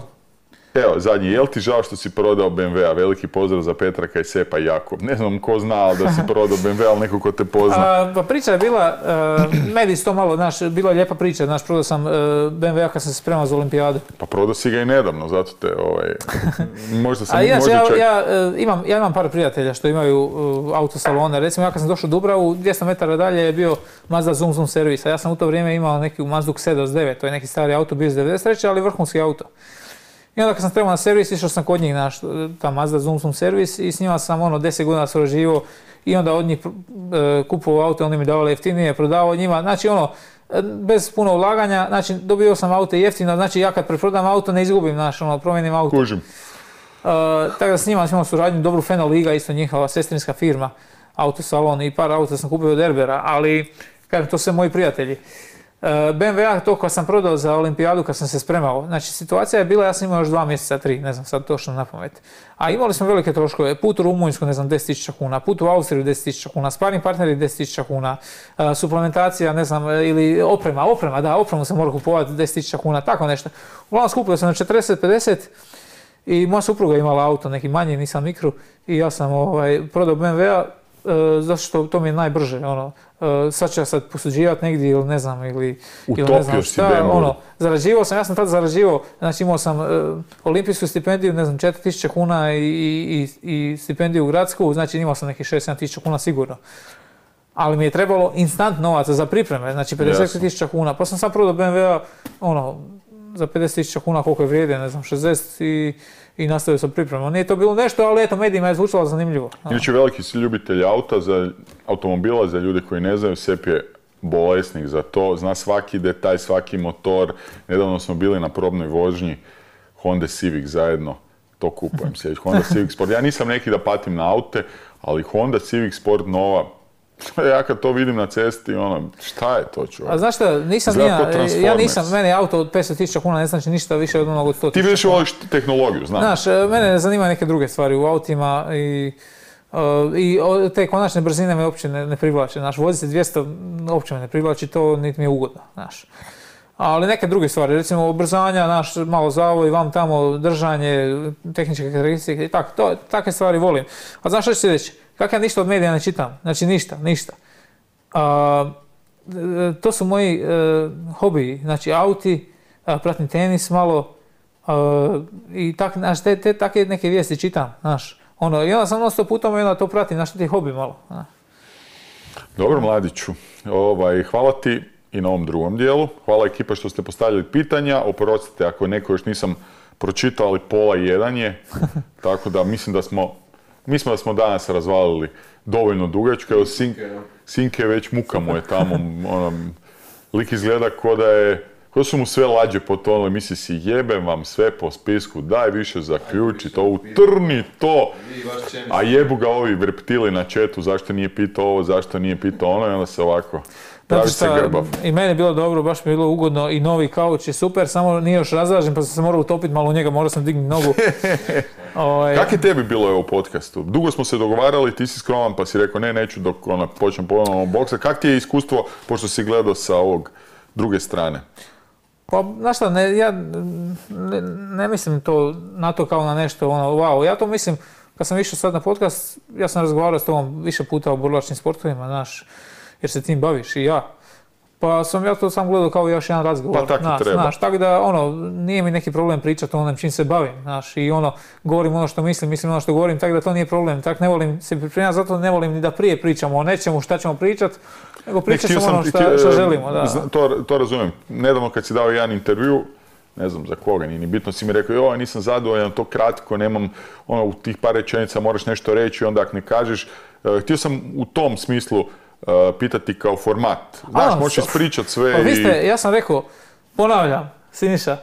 [SPEAKER 2] Evo, zadnji, jel ti žao što si prodao be em ve a? Veliki pozdrav za Petraka i Sepa i Jakub. Ne znam ko zna, ali da si prodao be em ve a, ali neko ko te pozna.
[SPEAKER 3] A, pa priča je bila, uh, mediji su to malo, znaš, bila je lijepa priča, znaš, prodao sam uh, be em ve a kad sam se spremao za olimpijadu.
[SPEAKER 2] Pa prodao si ga i nedavno, zato te, ovaj, možda sam,
[SPEAKER 3] A ja,
[SPEAKER 2] možda
[SPEAKER 3] ja,
[SPEAKER 2] čak...
[SPEAKER 3] ja, uh, imam, ja imam par prijatelja što imaju uh, autosalone. Recimo, ja kad sam došao u Dubravu, dvjesto metara dalje je bio Mazda Zoom Zoom servis, a ja sam u to vrijeme imao neki Mazdu X E D O S devet, to je neki stari auto, bio iz devedeset treće ali vrhunski auto. I onda kad sam trebao na servis, išao sam kod njih na ta Mazda Zoom Zoom servis i s njima sam ono deset godina surađivao i onda od njih e, kupovao auto, oni mi davali jeftinije, prodavao njima, znači ono, bez puno ulaganja, znači dobio sam auto jeftino, znači ja kad preprodam auto ne izgubim, znači ono, promijenim auto.
[SPEAKER 2] Kužim.
[SPEAKER 3] E, tako da s njima imao suradnju, dobru Feno Liga, isto njihova sestrinska firma, autosalon i par auta sam kupio od Erbera, ali kažem, to su moji prijatelji. be em ve a to kad sam prodao za olimpijadu kad sam se spremao, znači situacija je bila, ja sam imao još dva mjeseca, tri, ne znam sad točno na pamet. A imali smo velike troškove, put u Rumunjsku, ne znam, deset tisuća kuna, put u Austriju deset tisuća kuna, sparing partneri deset tisuća kuna, uh, suplementacija, ne znam, ili oprema, oprema, da, opremu se mora kupovati deset tisuća kuna, tako nešto. Uglavnom skupio sam na četrdeset pedeset i moja supruga imala auto, neki manji, nisam mikro, i ja sam ovaj, prodao be em ve a, Uh, zato što to mi je najbrže, ono, uh, sad ću ja sad posuđivati negdje ili ne znam, ili, ili ne znam šta, ono, zarađivao sam, ja sam tad zarađivao, znači imao sam uh, olimpijsku stipendiju, ne znam, četiri tisuće kuna i, i, i stipendiju gradsku, znači imao sam nekih šest sedam tisuća kuna sigurno. Ali mi je trebalo instant novaca za pripreme, znači pedeset tisuća kuna, pa sam sad prodao be em ve a, ono, za pedeset tisuća kuna koliko je vrijede, ne znam, šezdeset i i nastavio sam pripremom. Nije to bilo nešto, ali eto, medijima je zvučalo zanimljivo.
[SPEAKER 2] Inače, veliki si ljubitelj auta, za automobila, za ljude koji ne znaju, Sep je bolesnik za to, zna svaki detalj, svaki motor. Nedavno smo bili na probnoj vožnji Honda Civic zajedno, to kupujem se, Honda Civic Sport. Ja nisam neki da patim na aute, ali Honda Civic Sport nova, ja kad to vidim na cesti, ono, šta je to čovjek?
[SPEAKER 3] A znaš šta, nisam ja, ja nisam, meni auto od petsto tisuća kuna ne znači ništa više od onog od sto tisuća.
[SPEAKER 2] Ti više voliš tehnologiju, znam.
[SPEAKER 3] Znaš, mene zanimaju neke druge stvari u autima i, uh, i te konačne brzine me uopće ne, ne privlače. Znaš, voziti dvjesto uopće me ne privlači, to niti mi je ugodno, znaš. Ali neke druge stvari, recimo ubrzanja, naš malo zavoj, vam tamo držanje, tehničke karakteristike i tako, to, takve stvari volim. A znaš što ću ti reći? Kako ja ništa od medija ne čitam, znači ništa, ništa. A, to su moji uh, hobiji, znači auti, a, pratim tenis malo a, i tak, znaš, te, te takve neke vijesti čitam, znaš. Ono, i onda sam non stop putom i onda to pratim, znaš, ti hobi malo. Znaš.
[SPEAKER 2] Dobro, Mladiću, ovaj, hvala ti i na ovom drugom dijelu. Hvala ekipa što ste postavljali pitanja. Oprostite ako neko još nisam pročitao, ali pola jedan je. Tako da mislim da smo, mislim da smo danas razvalili dovoljno dugačko. Evo, Sinke, Sinke već muka mu je tamo. Ono, lik izgleda ko da je, ko su mu sve lađe potonule. Misli si, jebem vam sve po spisku, daj više zaključi to, utrni to. A jebu ga ovi reptili na chatu, zašto nije pitao ovo, zašto nije pitao ono, i onda se ovako... Pravi se grbav.
[SPEAKER 3] I meni je bilo dobro, baš mi je bilo ugodno i novi kauč je super, samo nije još razražen pa sam se morao utopiti malo u njega, morao sam dignuti nogu. Ovaj...
[SPEAKER 2] Kako je tebi bilo u podcastu? Dugo smo se dogovarali, ti si skroman pa si rekao ne, neću dok ona, počnem ponovno boksa. Kako ti je iskustvo, pošto si gledao sa ovog druge strane?
[SPEAKER 3] Pa, znaš šta, ne, ja ne, ne mislim to, na to kao na nešto, ono, wow, ja to mislim, kad sam išao sad na podcast, ja sam razgovarao s tobom više puta o borilačkim sportovima, znaš, jer se tim baviš i ja. Pa sam ja to sam gledao kao još jedan razgovor.
[SPEAKER 2] Pa tako
[SPEAKER 3] znaš,
[SPEAKER 2] treba.
[SPEAKER 3] Znaš, tako da, ono, nije mi neki problem pričati o onom čim se bavim, znaš, i ono, govorim ono što mislim, mislim ono što govorim, tako da to nije problem. Tako ne volim se pripremati, zato ne volim ni da prije pričamo o nečemu šta ćemo pričati, nego pričat ćemo ono šta, šta želimo, da.
[SPEAKER 2] To, to razumijem. Nedavno kad si dao jedan intervju, ne znam za koga, nije ni bitno, si mi rekao, joj, nisam zadovoljan, to kratko, nemam, ono, u tih par rečenica moraš nešto reći, onda ako ne kažeš. Uh, htio sam u tom smislu uh, pitati kao format. Znaš, možeš ispričati sve.
[SPEAKER 3] Pa vi ste,
[SPEAKER 2] i...
[SPEAKER 3] ja sam rekao, ponavljam, Siniša,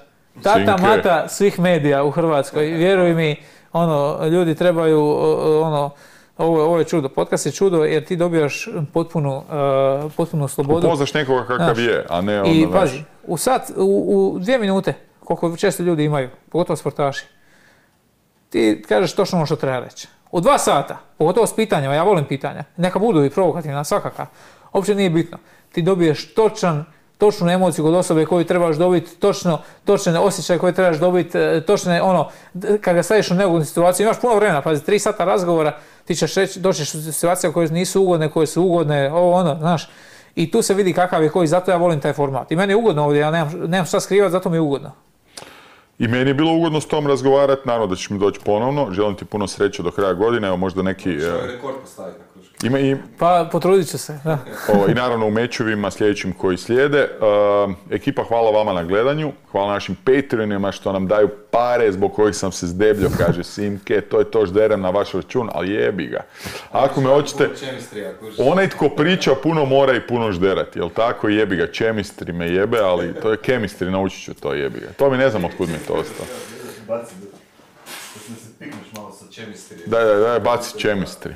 [SPEAKER 3] tata
[SPEAKER 2] Sinke.
[SPEAKER 3] mata svih medija u Hrvatskoj, vjeruj mi, ono, ljudi trebaju, ono, ovo, ovo je čudo, podcast je čudo jer ti dobijaš potpunu, uh, potpunu slobodu.
[SPEAKER 2] Upoznaš nekoga kakav znaš, je, a ne ono,
[SPEAKER 3] i pazi, u sat, u, u dvije minute, koliko često ljudi imaju, pogotovo sportaši, ti kažeš točno ono što treba reći. U dva sata, pogotovo s pitanjima, ja volim pitanja, neka budu i provokativna, svakaka, uopće nije bitno. Ti dobiješ točan, točnu emociju kod osobe koju trebaš dobiti, točno, točne osjećaje koje trebaš dobiti, točne, ono, kad ga staviš u neugodnu situaciju, imaš puno vremena, pazi, tri sata razgovora, ti ćeš reći, doćeš u situacije koje nisu ugodne, koje su ugodne, ovo ono, znaš, i tu se vidi kakav je koji, zato ja volim taj format. I meni je ugodno ovdje, ja nemam, nemam šta skrivati, zato mi je ugodno.
[SPEAKER 2] I meni je bilo ugodno s tom razgovarati, naravno da ćeš mi doći ponovno, želim ti puno sreće do kraja godine, evo možda neki...
[SPEAKER 1] Što je rekord postaviti na kruške?
[SPEAKER 2] Ima i...
[SPEAKER 3] Pa potrudit ću se, da.
[SPEAKER 2] O, I naravno u mečevima sljedećim koji slijede. Uh, ekipa, hvala vama na gledanju, hvala našim Patreonima što nam daju pare zbog kojih sam se zdebljio, kaže Simke, to je to žderem na vaš račun, ali jebi ga. Ako me hoćete, onaj tko priča puno mora i puno žderati, jel tako, jebi ga, chemistry me jebe, ali to je chemistry, naučit ću to, jebi ga. To mi ne znam otkud mi to ostao.
[SPEAKER 1] Baci, da se pikneš malo sa chemistry.
[SPEAKER 2] Daj, daj, daj, baci chemistry.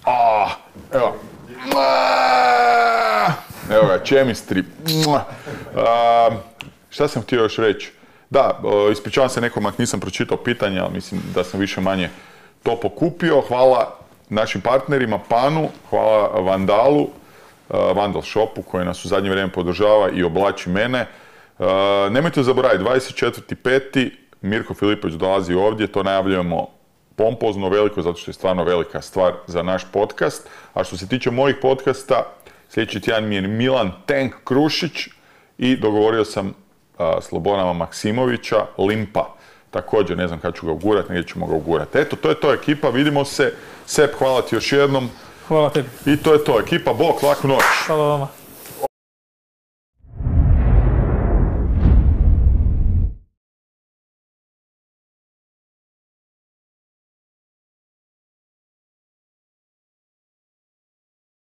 [SPEAKER 2] Ah, evo. Evo ga, chemistry. Uh, šta sam htio još reći? Da, ispričavam se nekom ako nisam pročitao pitanja, ali mislim da sam više manje to pokupio. Hvala našim partnerima Panu, hvala Vandalu, uh, Vandal Shopu koji nas u zadnje vrijeme podržava i oblači mene. Uh, nemojte zaboraviti, dvadeset četvrti peti Mirko Filipović dolazi ovdje, to najavljujemo pompozno, veliko, zato što je stvarno velika stvar za naš podcast. A što se tiče mojih podcasta, sljedeći tjedan mi je Milan Tank Krušić i dogovorio sam a, Slobodana Maksimovića, Limpa. Također, ne znam kada ću ga ugurati, negdje ćemo ga ugurati. Eto, to je to ekipa, vidimo se. Sep, hvala ti još jednom.
[SPEAKER 3] Hvala tebi.
[SPEAKER 2] I to je to, ekipa, bok, laku noć.
[SPEAKER 3] Hvala vama.